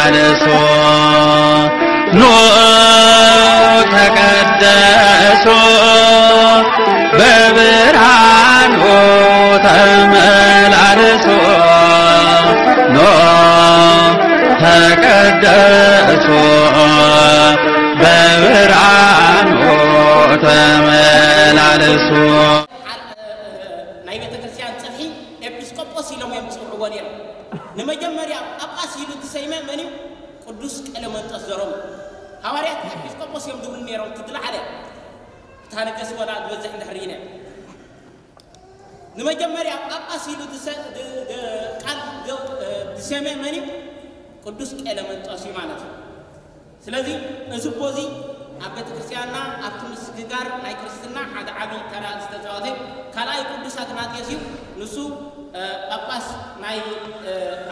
ተመላለሱ ኑ ተቀደሱ በብርሃኑ ተመላለሱ ኑ ተቀደሱ በብርሃኑ ተመላለሱ። ናይ ቤተ ክርስቲያን ጽፍሒ ኤጲስቆጶስ ኢሎም እዮም ዝጽውዕዎ ነይሮም። ንመጀመርያ ጳጳስ ኢሉ እተሰይመ መን እዩ? ቅዱስ ቀለመንጦስ ዘሮም። ሃዋርያት ኤጲስቆጶስ እዮም ዝብሉ ነይሮም። እቲ ዝለዓለ እታ ነገስ ወላ ዝበዝሕ እንድሕር ኢነ ንመጀመርያ ጳጳስ ኢሉ ዝሰ- ድ- ድ- ቃል ድ- ዝሰመ መን እዩ? ቅዱስ ቀለመንጦስ እዩ ማለት እዩ። ስለዚ እዚ እቦ እዚ ኣብ ቤተክርስትያንና ኣብቲ ምስግጋር ናይ ክርስትና ሓደ ዓብዪ ተራ ዝተፃወተ ካልኣይ ቅዱስ ኣትናቴዎስ እዩ። ንሱ ጳጳስ ናይ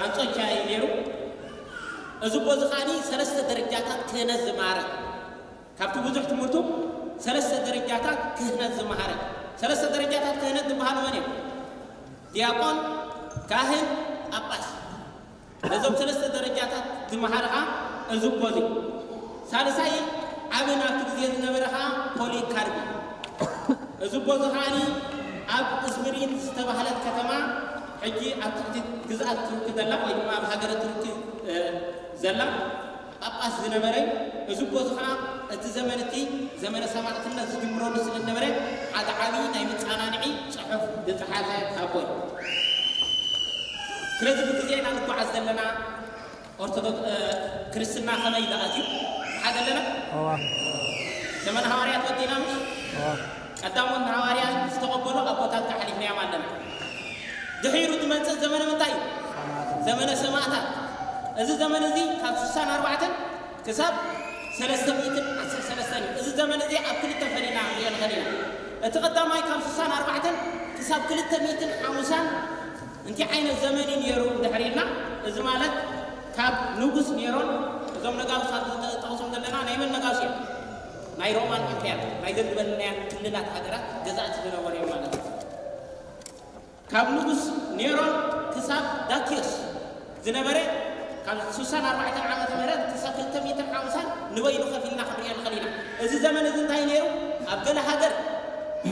ኣንጾኪያ እዩ ነይሩ። እዚ እቦ እዚ ከዓኒ ሰለስተ ደረጃታት ክህነት ዝመሃረ ካብቲ ብዙሕ ትምህርቱ ሰለስተ ደረጃታት ክህነት ዝመሃረ። ሰለስተ ደረጃታት ክህነት ዝበሃሉ መን እዮም? ዲያቆን፣ ካህን፣ ጳጳስ። ነዞም ሰለስተ ደረጃታት ዝመሃረ ኸዓ እዚ እቦ እዚ። ሳልሳይ ዓብን ኣብቲ ግዜ ዝነበረ ኸዓ ፖሊካርፕ። እዚ እቦ እዚ ኸዓኒ ኣብ እዝምሪን ዝተባህለት ከተማ ሕጂ ኣብ ትሕቲ ግዝኣት ቱርኪ ዘላ ወይ ድማ ኣብ ሃገረ ቱርኪ ዘላ ጳጳስ ዝነበረ እዩ። እዚ እቦ እዚ ኸዓ እቲ ዘመን እቲ ዘመነ ሰማዕትነት ዝጅምረሉ ስለ ዝነበረ ሓደ ዓብዪ ናይ መፀናንዒ ፅሑፍ ዝፀሓፈ ኣቦ እዩ። ስለዚ ብግዜና ንጓዓዝ ዘለና ኦርቶዶክስ ክርስትና ከመይ ኢሉ ኣትዩ? ሓደ ኣለና። ዘመነ ሃዋርያት ወዲና ምሽ ቀዳሞት ንሃዋርያ ዝተቐበሉ ኣቦታት ተሓሊፍናዮም ኣለና። ድሒሩ ዝመፅእ ዘመነ ምንታይ እዩ? ዘመነ ሰማእታት። እዚ ዘመን እዚ ካብ ስሳን ኣርባዕተን ክሳብ ሰለስተ ሚእትን ዓሰርተ ሰለስተን እዩ። እዚ ዘመን እዚ ኣብ ክልተ ፈሊና ንሪኦ ንኽእል ኢና። እቲ ቀዳማይ ካብ ስሳን ኣርባዕተን ክሳብ ክልተ ሚእትን ሓሙሳን እንታይ ዓይነት ዘመን እዩ ነይሩ እንድሕር ኢልና፣ እዚ ማለት ካብ ንጉስ ኔሮን እዞም ነጋውስ ኣብዚ ጠቕሶም ዘለና ናይ መን ነጋውስ እዮም? ናይ ሮማን ኢምፔር ናይ ዘን ዝበልናያን ክልላት ሃገራት ገዛእቲ ዝነበሩ እዮም ማለት እዩ። ካብ ንጉስ ኔሮን ክሳብ ዳኪዮስ ዝነበረ ካብ ስሳን ኣርባዕተን ዓመተ ምህረት ክሳብ ክልተ ሚእትን ሓምሳን ንበይኑ ከፊልና ክንሪኦ ንኽእል ኢና። እዚ ዘመን እዚ እንታይ ነይሩ? ኣብ ገለ ሃገር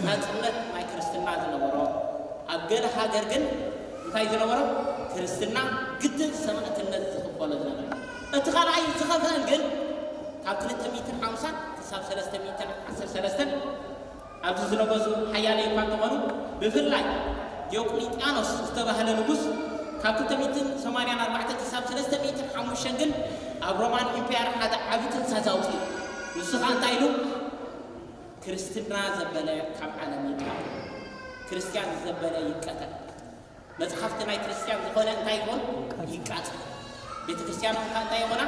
ናጽነት ናይ ክርስትና ዝነበሮ፣ ኣብ ገለ ሃገር ግን እንታይ ዝነበሮ? ክርስትና ግድን ሰማእትነት ዝኽፈሎ ዝነበረ። እቲ ካልኣይ ዝኸፍአን ግን ካብ ክልተ ሚእትን ሓምሳን ክሳብ ሰለስተ ሚእትን ዓሰርተ ሰለስተን ኣብዚ ዝነገሱ ሓያለይ እኳ እንተኾኑ፣ ብፍላይ ዲዮቅሊጥያኖስ ዝተባህለ ንጉስ ካብ ክልተ ሚእትን ሰማንያን ኣርባዕተ ክሳብ ሰለስተ ሚእትን ሓሙሽተን ግን ኣብ ሮማን ኢምፓየር ሓደ ዓቢ ትእዛዝ ኣውፅኡ። ንሱ ኸዓ እንታይ ኢሉ? ክርስትና ዘበለ ካብ ዓለም ይጥፋእ፣ ክርስትያን ዘበለ ይቀተል። መጽሓፍቲ ናይ ክርስትያን ዝኾነ እንታይ ይኾን? ይቃጸል። ቤተ ክርስትያን እውን እንታይ ይኾና?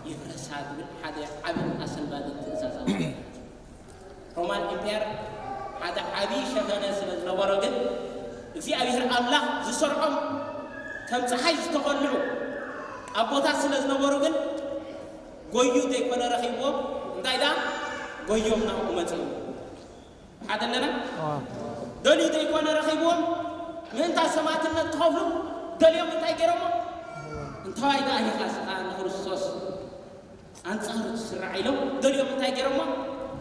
ይፍረሳ ዝብል ሓደ ዓብን ኣሰንባድን ትእዛዝ ኣውፅኡ። ሮማን ኢምፓየር ሓደ ዓብዪ ሸፈነ ስለ ዝነበሮ ግን እግዚኣብሔር ኣምላኽ ዝሰርዖም ከም ፀሓይ ዝተቐልዑ ኣቦታት ስለ ዝነበሩ ግን ጎዩ ዘይኮነ ረኺብዎም እንታይ ደኣ ጎዮም ናብኡ መፅኡ ሓደ ኣለና ደልዩ ዘይኮነ ረኺብዎም ምእንታ ሰማዕትነት ክኸፍሉ ደልዮም እንታይ ገይሮሞ እንታዋይ ደኣ ኢኻ ስኻ ንክርስቶስ ኣንጻሩ ትስራዕ ኢሎም ገሊኦም እንታይ ገይሮሞ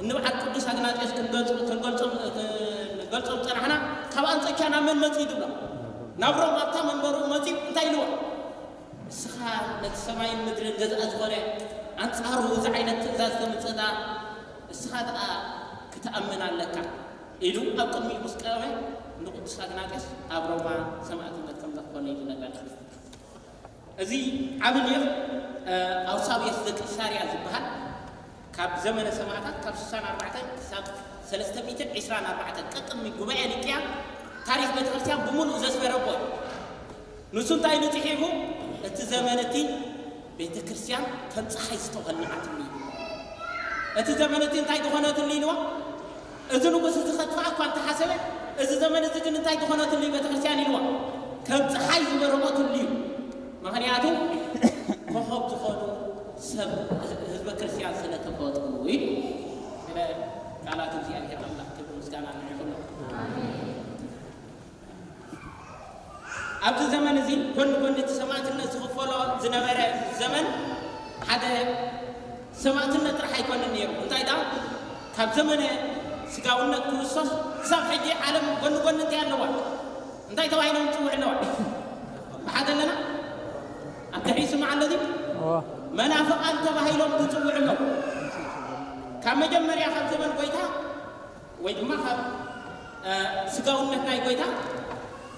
እንብዓል ቅዱስ ኣግናጢዮስ ክንገልጾም ጸናሕና ካብ ኣንጾኪያ ናብ መን መጺኡ ድብሎ ናብ ሮም ኣብታ መንበሩ መጺኡ እንታይ ኢልዎ እስኻ ነቲ ሰማይን ምድርን ገዛእ ዝኾነ ኣንጻሩ እዚ ዓይነት ትእዛዝ ተምጽእና እስኻ ደኣ ክትኣምን ኣለካ ኢሉ ኣብ ቅድሚኡ ምስ ቀረበ ንቅዱስ ኣግናጢዮስ ኣብ ሮማ ሰማዕትነት ከም ዘኽፈሎ እዩ ዝነግረና። እዚ ዓቢ ሊቕ ኣውሳብዮስ ዘቂሳርያ ዝበሃል ካብ ዘመነ ሰማእታት ካብ ስሳን ኣርባዕተን ክሳብ ሰለስተ ሚእትን ዕስራን ኣርባዕተን ቀቅድሚ ጉባኤ ኒቅያ ታሪኽ ቤተክርስትያን ብምሉእ ዘስፈረ ኣቦ እዩ። ንሱ እንታይ ኢሉ ጽሒፉ እቲ ዘመን እቲ ቤተክርስትያን ከም ፀሓይ ዝተኾልዓትሉ እዩ። እቲ ዘመን እቲ እንታይ ዝኾነትሉ ኢልዎ እዚ ንጉስ እዚ ከጥፍኣ እኳ እንተሓሰበ እዚ ዘመን እዚ ግን እንታይ ዝኾነትሉ እዩ ቤተክርስትያን ኢልዎ ከም ፀሓይ ዝበረቐትሉ እዩ። ምኽንያቱ ኮኸብ ዝኾኑ ሰብ ህዝበ ክርስትያን ስለ ተፈጥሩ ኢሉ ስለ ቃላት እግዚኣብሔር ኣምላኽ ክብሪ ምስጋና ንዕኹሎ። ኣብዚ ዘመን እዚ ጎኒ ጎኒ እቲ ሰማዕትነት ዝኽፈሎ ዝነበረ ዘመን ሓደ ሰማዕትነት ጥራሕ ኣይኮነን ነይሩ። እንታይ ደኣ፣ ካብ ዘመነ ስጋውነት ክርስቶስ ክሳብ ሕጂ ዓለም ጎኒ ጎኒ እንታይ ኣለዋ? እንታይ ተባሂሎም ይጽውዑ ኣለዋ? ብሓደ ኣለና? ኣብ ድሕሪ ይስማዕ ኣሎ ድዩ? መናፍቓን ተባሂሎም ዝጽውዑ ኣለዉ። ካብ መጀመርያ ካብ ዘመን ጎይታ ወይ ድማ ካብ ስጋውነት ናይ ጎይታ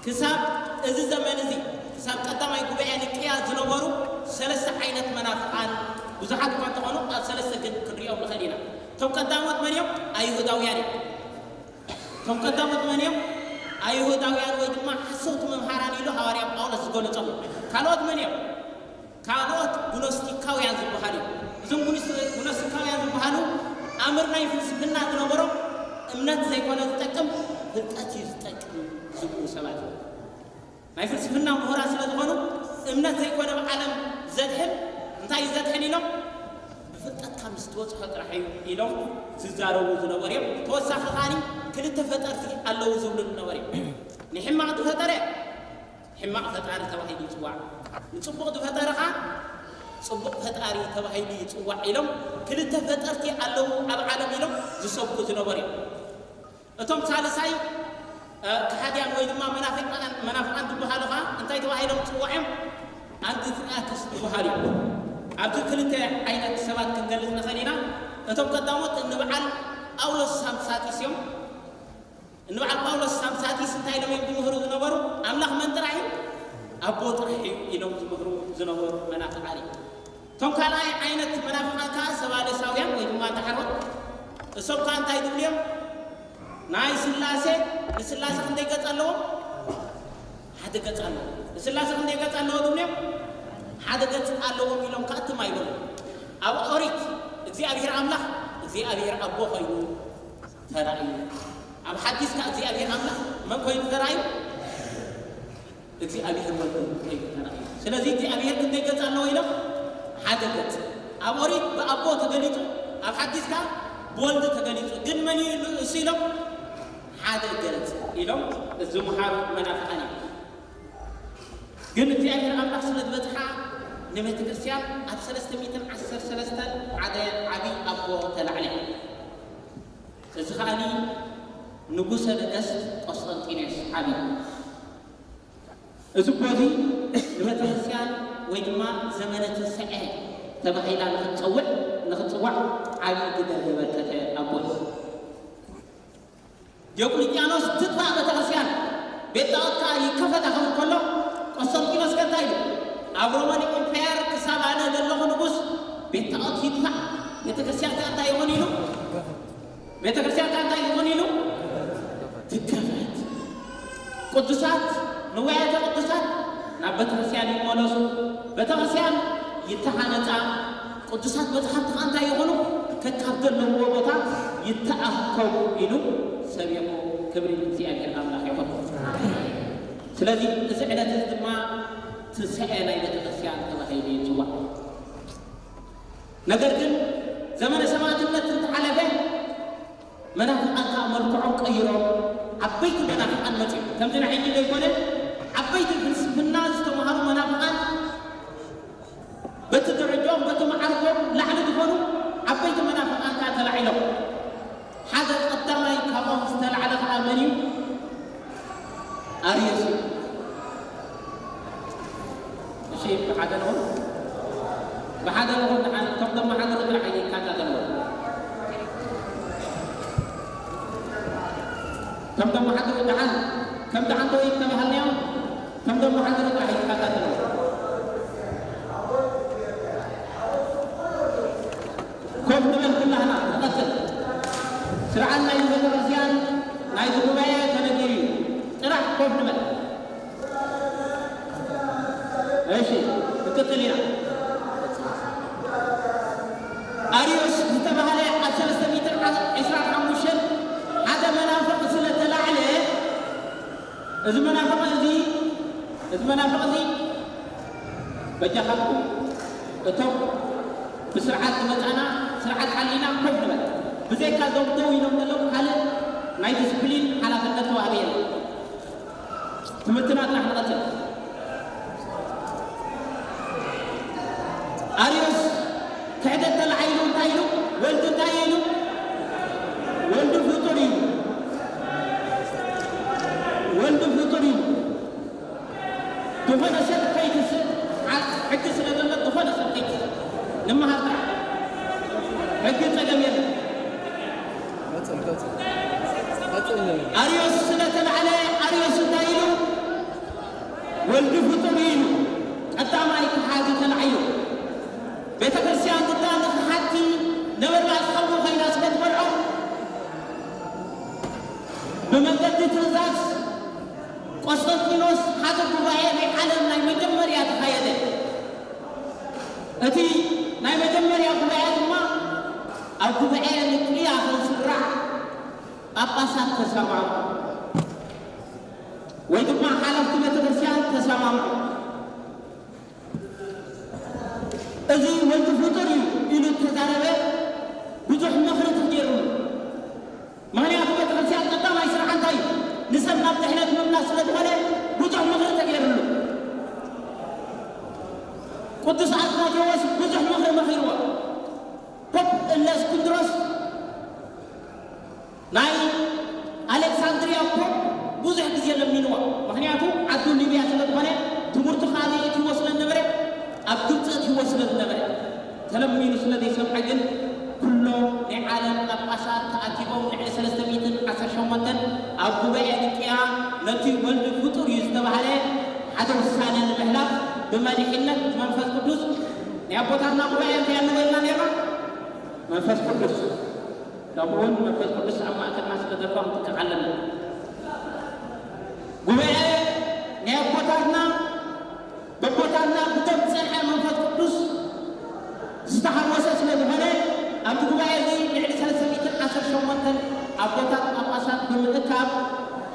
ክሳብ እዚ ዘመን እዚ፣ ክሳብ ቀዳማይ ጉባኤ ኒቅያ ዝነበሩ ሰለስተ ዓይነት መናፍቓን ብዙሓት እኳ እንተኾኑ፣ ኣብ ሰለስተ ግን ክንሪኦም ንኽእል ኢና። እቶም ቀዳሞት መን እዮም? ኣይሁዳውያን እዮም። እቶም ቀዳሞት መን እዮም? ኣይሁዳውያን ወይ ድማ ሓሰውቲ መምሃራን ኢሉ ሃዋርያ ጳውሎስ ዝገለጾም። ካልኦት መን እዮም? ካልኦት ግኖስቲካውያን ዝበሃሉ እዮም። እዞም ግኖስ-፣ ግኖስቲካውያን ዝበሃሉ ኣምር ናይ ፍልስፍና ዝነበሮም፣ እምነት ዘይኮነ ዝጠቅም፣ ፍልጠት እዩ ዝጠቅም ዝብሉ ሰባት እዮም። ናይ ፍልስፍና ምሁራት ስለ ዝኾኑ፣ እምነት ዘይኮነ ብዓለም ዘድሕን፣ እንታይ እዩ ዘድሕን ኢሎም፣ ብፍልጠትካ ምስ ትበጽሖ ጥራሕ እዩ ኢሎም ዝዛረቡ ዝነበሩ እዮም። ተወሳኺ ከኣ ክልተ ፈጠርቲ ኣለዉ ዝብሉ ዝነበሩ እዮም። ንሕማቕ ዝፈጠረ ሕማቕ ፈጣሪ ተባሂሉ ይጽዋዕ። ንጽቡቕ ዝፈጠረ ኸኣ ጽቡቕ ፈጣሪ ተባሂሉ ይጽዋዕ ኢሎም ክልተ ፈጠርቲ ኣለዉ ኣብ ዓለም ኢሎም ዝሰብኩ ዝነበሩ እዮም። እቶም ሳልሳይ፣ እ፣ ከሃድያን ወይ ድማ መናፍቃን፣ መናፍቃን ዝበሃሉ ኸኣ እንታይ ተባሂሎም ይጽዋዕ እዮም? ኣንቲክራክስ ዝበሃሉ እዮም። ኣብዚ ክልተ ዓይነት ሰባት ክንገልጽ ንኽእል ኢና። እቶም ቀዳሞት ንበዓል ጳውሎስ ሳምሳጢስ እዮም። ንበዓል ጳውሎስ ሳምሳጢስ እንታይ ኢሎም እዮም ዝምህሩ ዝነበሩ? ኣምላኽ መን ጥራሕ እዩ? ኣቦ ጥራሕ እዩ ኢሎም ዝምህሩ ዝነበሩ መናፍቃን እዮም። እቶም ካልኣይ ዓይነት መናፍቃን ከኣ ሰባልሳውያን ወይ ድማ ዳሕሮት። እሶም ከኣ እንታይ ዝብሉ እዮም? ናይ ስላሴ፣ ንስላሴ ክንደይ ገጽ ኣለዎም? ሓደ ገጽ ኣለዎም። ንስላሴ ክንደይ ገጽ ኣለዎ ዝብሉ እዮም? ሓደ ገጽ ኣለዎም ኢሎም ከኣ ትም ኣይበሉ። ኣብ ኦሪት እግዚኣብሔር ኣምላኽ እግዚኣብሔር ኣቦ ኮይኑ ተራእዩ። ኣብ ሓዲስ ከኣ እግዚኣብሔር ኣምላኽ መን ኮይኑ ተራእዩ? እግዚኣብሔር ወልድ ኮይኑ ተራእዩ። ስለዚ እግዚኣብሔር ክንደይ ገጽ ኣለዎ ኢሎም? ሓደ ገጽ። ኣብ ኦሪት ብኣቦ ተገሊጹ፣ ኣብ ሓዲስ ከኣ ብወልድ ተገሊጹ። ግን መን እዩ እሱ ኢሎም? ሓደ ገጽ ኢሎም ዝመሃሩ መናፍቃን እዮም። ግን እግዚኣብሔር ኣምላኽ ስለ ዝበጽሓ ንቤተ ክርስቲያን ኣብ ሰለስተ ሚእትን ዓሰርተ ሰለስተን ሓደ ዓቢ ኣቦ ተላዕለ። እዚ ከኣኒ ንጉሰ ነገስት ቆስጠንጢኖስ ዓቢ። እዚ ኣቦ እዚ ንቤተ ክርስቲያን ወይ ድማ ዘመነ ትንሳኤ ተባሂላ ንኽትጸውዕ፣ ንኽትጽዋዕ ዓቢ ግደ ዘበርከተ ኣቦ እዩ። ዲዮቅልጥያኖስ ትጥፋእ ቤተ ክርስቲያን፣ ቤት ጣዖት ከኣ ይከፈታ ክብል ከሎ፣ ቆስጠንጢኖስ ከ እንታይ ኢሉ? ኣብ ሮማን ኢምፓየር ክሳብ ኣነ ዘለኹ ንጉስ ቤት ጣዖት ይጥፋእ፣ ቤተ ክርስቲያን ከኣ እንታይ ይኹን ኢሉ? ቤተ ክርስቲያን ከኣ እንታይ ይኹን ኢሉ? ትከፈት። ቅዱሳት፣ ንዋያተ ቅዱሳት ናብ ቤተ ክርስቲያን ይመለሱ፣ ቤተ ክርስቲያን ይተሃነጻ፣ ቅዱሳት መጽሓፍቲ ከኣ እንታይ ይኹኑ? ከካብ ዘለውዎ ቦታ ይተኣከቡ ኢሉ ሰቢኹ። ክብሪ ንእግዚኣብሔር ኣምላኽ ይኹን። ስለዚ እዚ ዕለት እዚ ድማ ትንሳኤ ናይ ቤተ ክርስቲያን ተባሂሉ ይጽዋዕ። ነገር ግን ዘመነ ሰማዕትነት እንተሓለፈ መናፍቃን ከኣ መልክዖም ቀይሮም ዓበይቲ መናፍቃን መጺኦም። ከምዚ ናይ ሕጂ ዘይኮነ ዓበይቲ ፍልስፍና ዝተምሃሩ መናፍቃን በቲ ደረጃኦም በቲ መዓርጎም ላዕሊ ዝኾኑ ዓበይቲ መናፍቃን ከኣ ተላዒሎም። ሓደ ቀዳማይ ካብኦም ዝተላዕለ ከኣ መን እዩ? ኣርዮስ እዩ። እሺ፣ ብሓደ ንኹን። ብሓደ ንኹን፣ ደሓን፣ እቶም ዘመሓድሩ ጥራሕ ይከታተልዎ። እቶም ዘመሓድሩ ደሓን፣ ከምቲ ዓንተወይ ዝተባሃልናዮም፣ እቶም ዘመሓድሩ ጥራሕ ይከታተልዎ። ኮፍ ንበል ኩላህና፣ ንቐጽል። ስርዓት ናይዚ ቤተክርስትያን፣ ናይዚ ጉባኤ ተነጊሩ እዩ። ጥራሕ ኮፍ ንበል። እሺ፣ ክንቅጽል ኢና። ኣርዮስ ዝተባህለ ኣብ ሰለስተ ሚእትን ዕስራን ሓሙሽተን ሓደ መናፍቕ ስለ ተላዕለ፣ እዚ መናፍቕ እዚ፣ እዚ መናፍቕ እዚ፣ በጃኻትኩም እቶም ብስርዓት ዝመጻና፣ ስርዓት ሓሊና ኮፍ ንበል። ብዘይካ እዞም ደው ኢሎም ዘለዉ ካልእ ናይ ዲስፕሊን ሓላፍነት ተዋህበ የለን። ትምህርትና ጥራሕ ንቐጽል። ኣርዮስ ክሕደት ተላዒሉ እንታይ ኢሉ? ወልዱ እንታይ ኢሉ? ወልዱ ፍጡር እዩ። ወልዱ ፍጡር እዩ። ዝኾነ ሰብ ከይትስእ፣ ዓ-፣ ሕጊ ስለ ዘሎ ዝኾነ ሰብ ከይትስእ። ንምሃር ጥራሕ። ሕጊ ጸገም የለን። ኣርዮስ ስለ ተላዕለ፣ ኣርዮስ እንታይ ኢሉ? ወልዱ ፍጡር ኢሉ። ቀዳማይ ክሓዲ ተላዒሉ። ቤተ ክርስቲያን ግዳ ንኽሓቲ ነበልባል ሓዊ ኮይና ስለ ትበልዖ፣ ብመንገዲ ትእዛዝ ቆስጠንጢኖስ ሓደ ጉባኤ ናይ ዓለም ናይ መጀመርያ ተኻየደ። እቲ ናይ መጀመርያ ጉባኤ ድማ ኣብ ጉባኤ ንቅያ ክስራዕ ጳጳሳት ተሰማምዑ፣ ወይ ድማ ሓለፍቲ ቤተክርስትያን ተሰማምዑ። እዚ ወልዲ ፍጡር እዩ ኢሉ እተዛረበ ብዙሕ ምኽሪ ተገይሩሉ። ምኽንያቱ ቤተክርስትያን ቀዳማይ ስርሓ እንታይ እዩ? ንሰብ ናብ ድሕነት ምምላስ ስለ ዝኾነ ብዙሕ ምኽሪ ተገይሩሉ። ቅዱስ ኣትናቴዎስ ብዙሕ ምኽሪ መኺርዎ። ፖፕ እለእስክንድሮስ ናይ ኣሌክሳንድሪያ ፖፕ ብዙሕ ግዜ ለሚንዎ። ምኽንያቱ ዓዱ ሊብያ ስለ ዝኾነ ትምህርቱ ካበይ እትይዎ ስለ ዝነበረ፣ ኣብ ግብፂ እትይዎ ስለ ዝነበረ፣ ተለሚኑ ስለ ዘይሰምዐ ግን ኩሎም ናይ ዓለም ጳጳሳት ተኣኪቦም ልዕሊ ሰለስተ ሚእትን ዓሰርተ ሸሞንተን ኣብ ጉባኤ ኒቅያ ነቲ ወልድ ፍጡር እዩ ዝተባህለ ሓደ ውሳነ ንምሕላፍ ብመሪሕነት መንፈስ ቅዱስ ናይ ኣቦታትና ጉባኤ እንታይ ኣንበልና ነርና? መንፈስ ቅዱስ። ከምኡ እውን መንፈስ ቅዱስ ኣብ ማእከልና ስለ ዘሎ ክንጥንቀቕ ኣለና። ጉባኤ ናይ ኣቦታትና፣ በቦታትና ብደም ዝጸንሐ መንፈስ ቅዱስ ዝተሓወሰ ስለ ዝኾነ፣ ኣብቲ ጉባኤ እዚ ልዕሊ ሰለስተ ሚእትን ዓሰርተ ሸሞንተን ኣቦታት ጳጳሳት ብምእካብ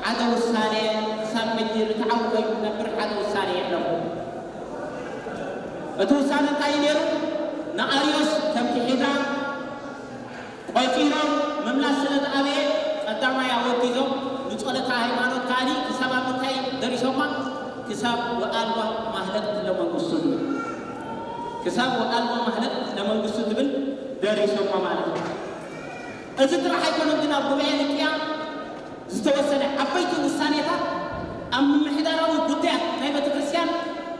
ሓደ ውሳነ ክሳብ ሕጂ ርትዓዊ ኮይኑ ዝነብር ሓደ ውሳነ የሕለፉ። እቲ ውሳነ እንታይ እዩ ነይሩ? ንኣርዮስ ከም ክሒዳ ቆጺሮም ምምላስ ስለ ዝኣበየ፣ ቀዳማይ ኣወጊዞም ንጸሎተ ሃይማኖት ከኣኒ ክሳብ ኣብ ምንታይ ደሪሶማ? ክሳብ ወኣልባ ማህለቅት ለመንግስቱ ዝብል፣ ክሳብ ወኣልባ ማህለቅት ለመንግስቱ ዝብል ደሪሶማ ማለት እዩ። እዚ ጥራሕ ኣይኮነን ግን ኣብ ጉባኤ ኒቅያ ዝተወሰነ ዓበይቲ ውሳኔታት ኣብ ምምሕዳራዊ ጉዳያት ናይ ቤተክርስትያን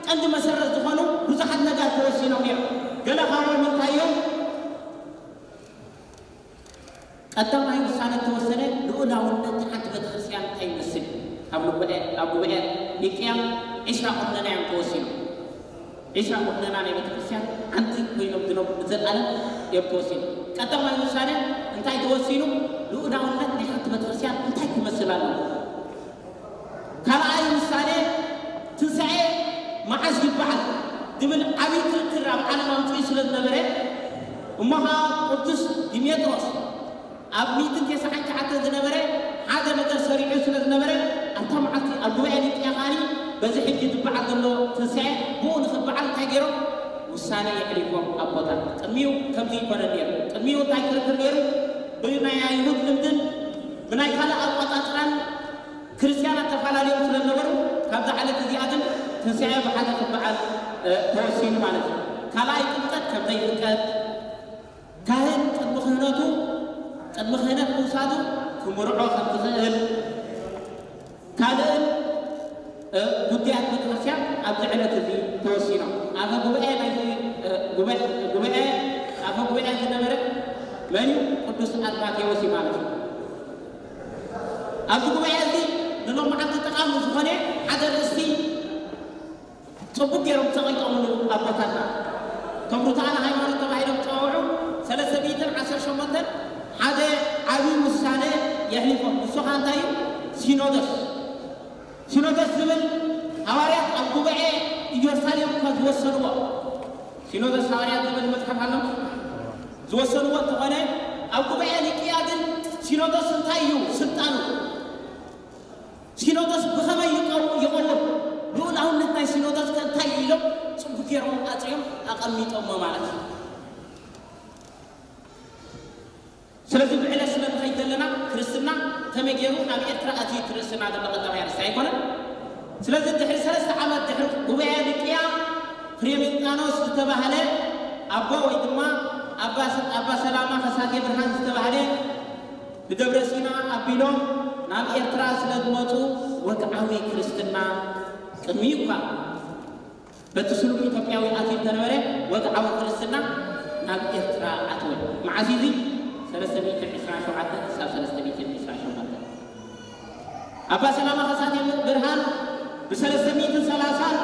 ቀንዲ መሰረት ዝኾኑ ብዙሓት ነገር ተወሲኖም እዮም። ገለ ካብኦም እንታይ እዮም? ቀዳማይ ውሳነ ተወሰነ ልኡላውነት ሓንቲ ቤተክርስትያን እንታይ ይመስል? ኣብ ጉባኤ፣ ኣብ ጉባኤ ኒቅያ ዒስራ ቁነና እዮም ተወሲኖም። ዒስራ ቁነና ናይ ቤተክርስትያን ሓንቲ ኮይኖም ዝነብሩ ንዘለኣለም እዮም ተወሲኑ። ቀዳማይ ውሳነ እንታይ ተወሲኑ? ልኡላውነት ናይ ሓንቲ ቤተክርስትያን እንታይ ክመስል ኣለዎ? ካልኣይ ውሳነ ትንሳኤ መዓዝ ይበዓል ዝብል ዓብዪ ክርክር ኣብ ዓለም ኣምፅኡ ስለ ዝነበረ፣ እሞ ኸዓ ቅዱስ ዲሜጥሮስ ኣብ ሚእትን ተስዓን ትሽዓተን ዝነበረ ሓደ ነገር ሰሪዑ ስለ ዝነበረ፣ ኣብታ መዓልቲ ኣብ ጉባኤ ኒቅያ ከኣኒ በዚ ሕጂ ዝበዓል ዘሎ ትንሳኤ ብኡ ንኽበዓል እንታይ ገይሮም? ውሳነ የሕሊፎም ኣቦታት። ቅድሚኡ ከምዚ ይኮነን ነይሩ። ቅድሚኡ እንታይ ክርክር ነይሩ? ብናይ ኣይሁድ ልምድን ብናይ ካልእ ኣቆጻጽራን ክርስትያናት ተፈላለዮም ስለ ዝነበሩ፣ ካብዛ ዕለት እዚኣ ግን ትንሳኤ ብሓደ ክበዓል፣ እ፣ ተወሲኑ ማለት እዩ። ካልኣይ ጥምቀት ከም ዘይፍቀድ፣ ካህን ቅድሚ ክህነቱ፣ ቅድሚ ክህነት ምውሳዱ ክምርዖ ከም ዝኽእል፣ ካልእን፣ እ፣ ጉዳያት ቤተክርስትያን ኣብዚ ዕለት እዚ ተወሲኖም። ኣፈ ጉባኤ ናይቲ፣ እ፣ ጉባኤ፣ ጉባኤ፣ ኣፈ ጉባኤ ዝነበረ መን እዩ? ቅዱስ ኣትናቴዎስ እዩ ማለት እዩ። ኣብዚ ጉባኤ እዚ ንሎማዓንቲ ጠቓሚ ዝኾነ ሓደ ርእስቲ ጽቡቕ ገይሮም ጸቒጦምሉ ኣቦታትና። እቶም ርቱዓነ ሃይማኖት ተባሂሎም ዝጸውዑ ሰለስተ ሚእትን ዓሰርተ ሸሞንተን ሓደ ዓብዪ ውሳነ የሕሊፎም። ንሱ ኸኣ እንታይ እዩ? ሲኖዶስ። ሲኖዶስ ዝብል ሃዋርያት ኣብ ጉባኤ ኢየሩሳሌም እኳ ዝወሰንዎ፣ ሲኖዶስ ሃዋርያት ዝብል መጽሓፍ ኣሎ፣ ዝወሰንዎ እንተኾነ፣ ኣብ ጉባኤ ኒቅያ ግን ሲኖዶስ እንታይ እዩ ስልጣኑ? ሲኖዶስ ብኸመይ ይቀው-፣ ይቐውም? ልኡላውነት ናይ ሲኖዶስ ከ እንታይ እዩ ኢሎም ጽቡቕ ገይሮም ኣጽዮም ኣቐሚጦሞ ማለት እዩ። ስለዚ ብዕለት ስለ ንኸይድ ዘለና ክርስትና ከመይ ገይሩ ናብ ኤርትራ ኣትዩ እቲ ርእስና ዘሎ ቀዳማይ ኣርእስቲ ኣይኮነን? ስለዚ ድሕሪ ሰለስተ ዓመት ድሕሪ ጉባኤ ኒቅያ ፍሬምንጣኖስ ዝተባህለ ኣቦ ወይ ድማ ኣባ ሰላማ ከሳቴ ብርሃን ዝተባህለ ብደብረ ሲና ኣቢሎም ናብ ኤርትራ ስለ ዝመጹ ወግዓዊ ክርስትና ቅድሚኡ እኳ በቲ ስሉም ኢትዮጵያዊ ኣትዩ እንተነበረ ወግዓዊ ክርስትና ናብ ኤርትራ ኣተወ። መዓስ እዚ? ሰለስተ ሚእትን ዕስራን ሸውዓተን ክሳብ ሰለስተ ሚእትን ዕስራን ሸውዓተን ኣባ ሰላማ ከሳቴ ብርሃን ብሰለስተ ሚእትን ሰላሳን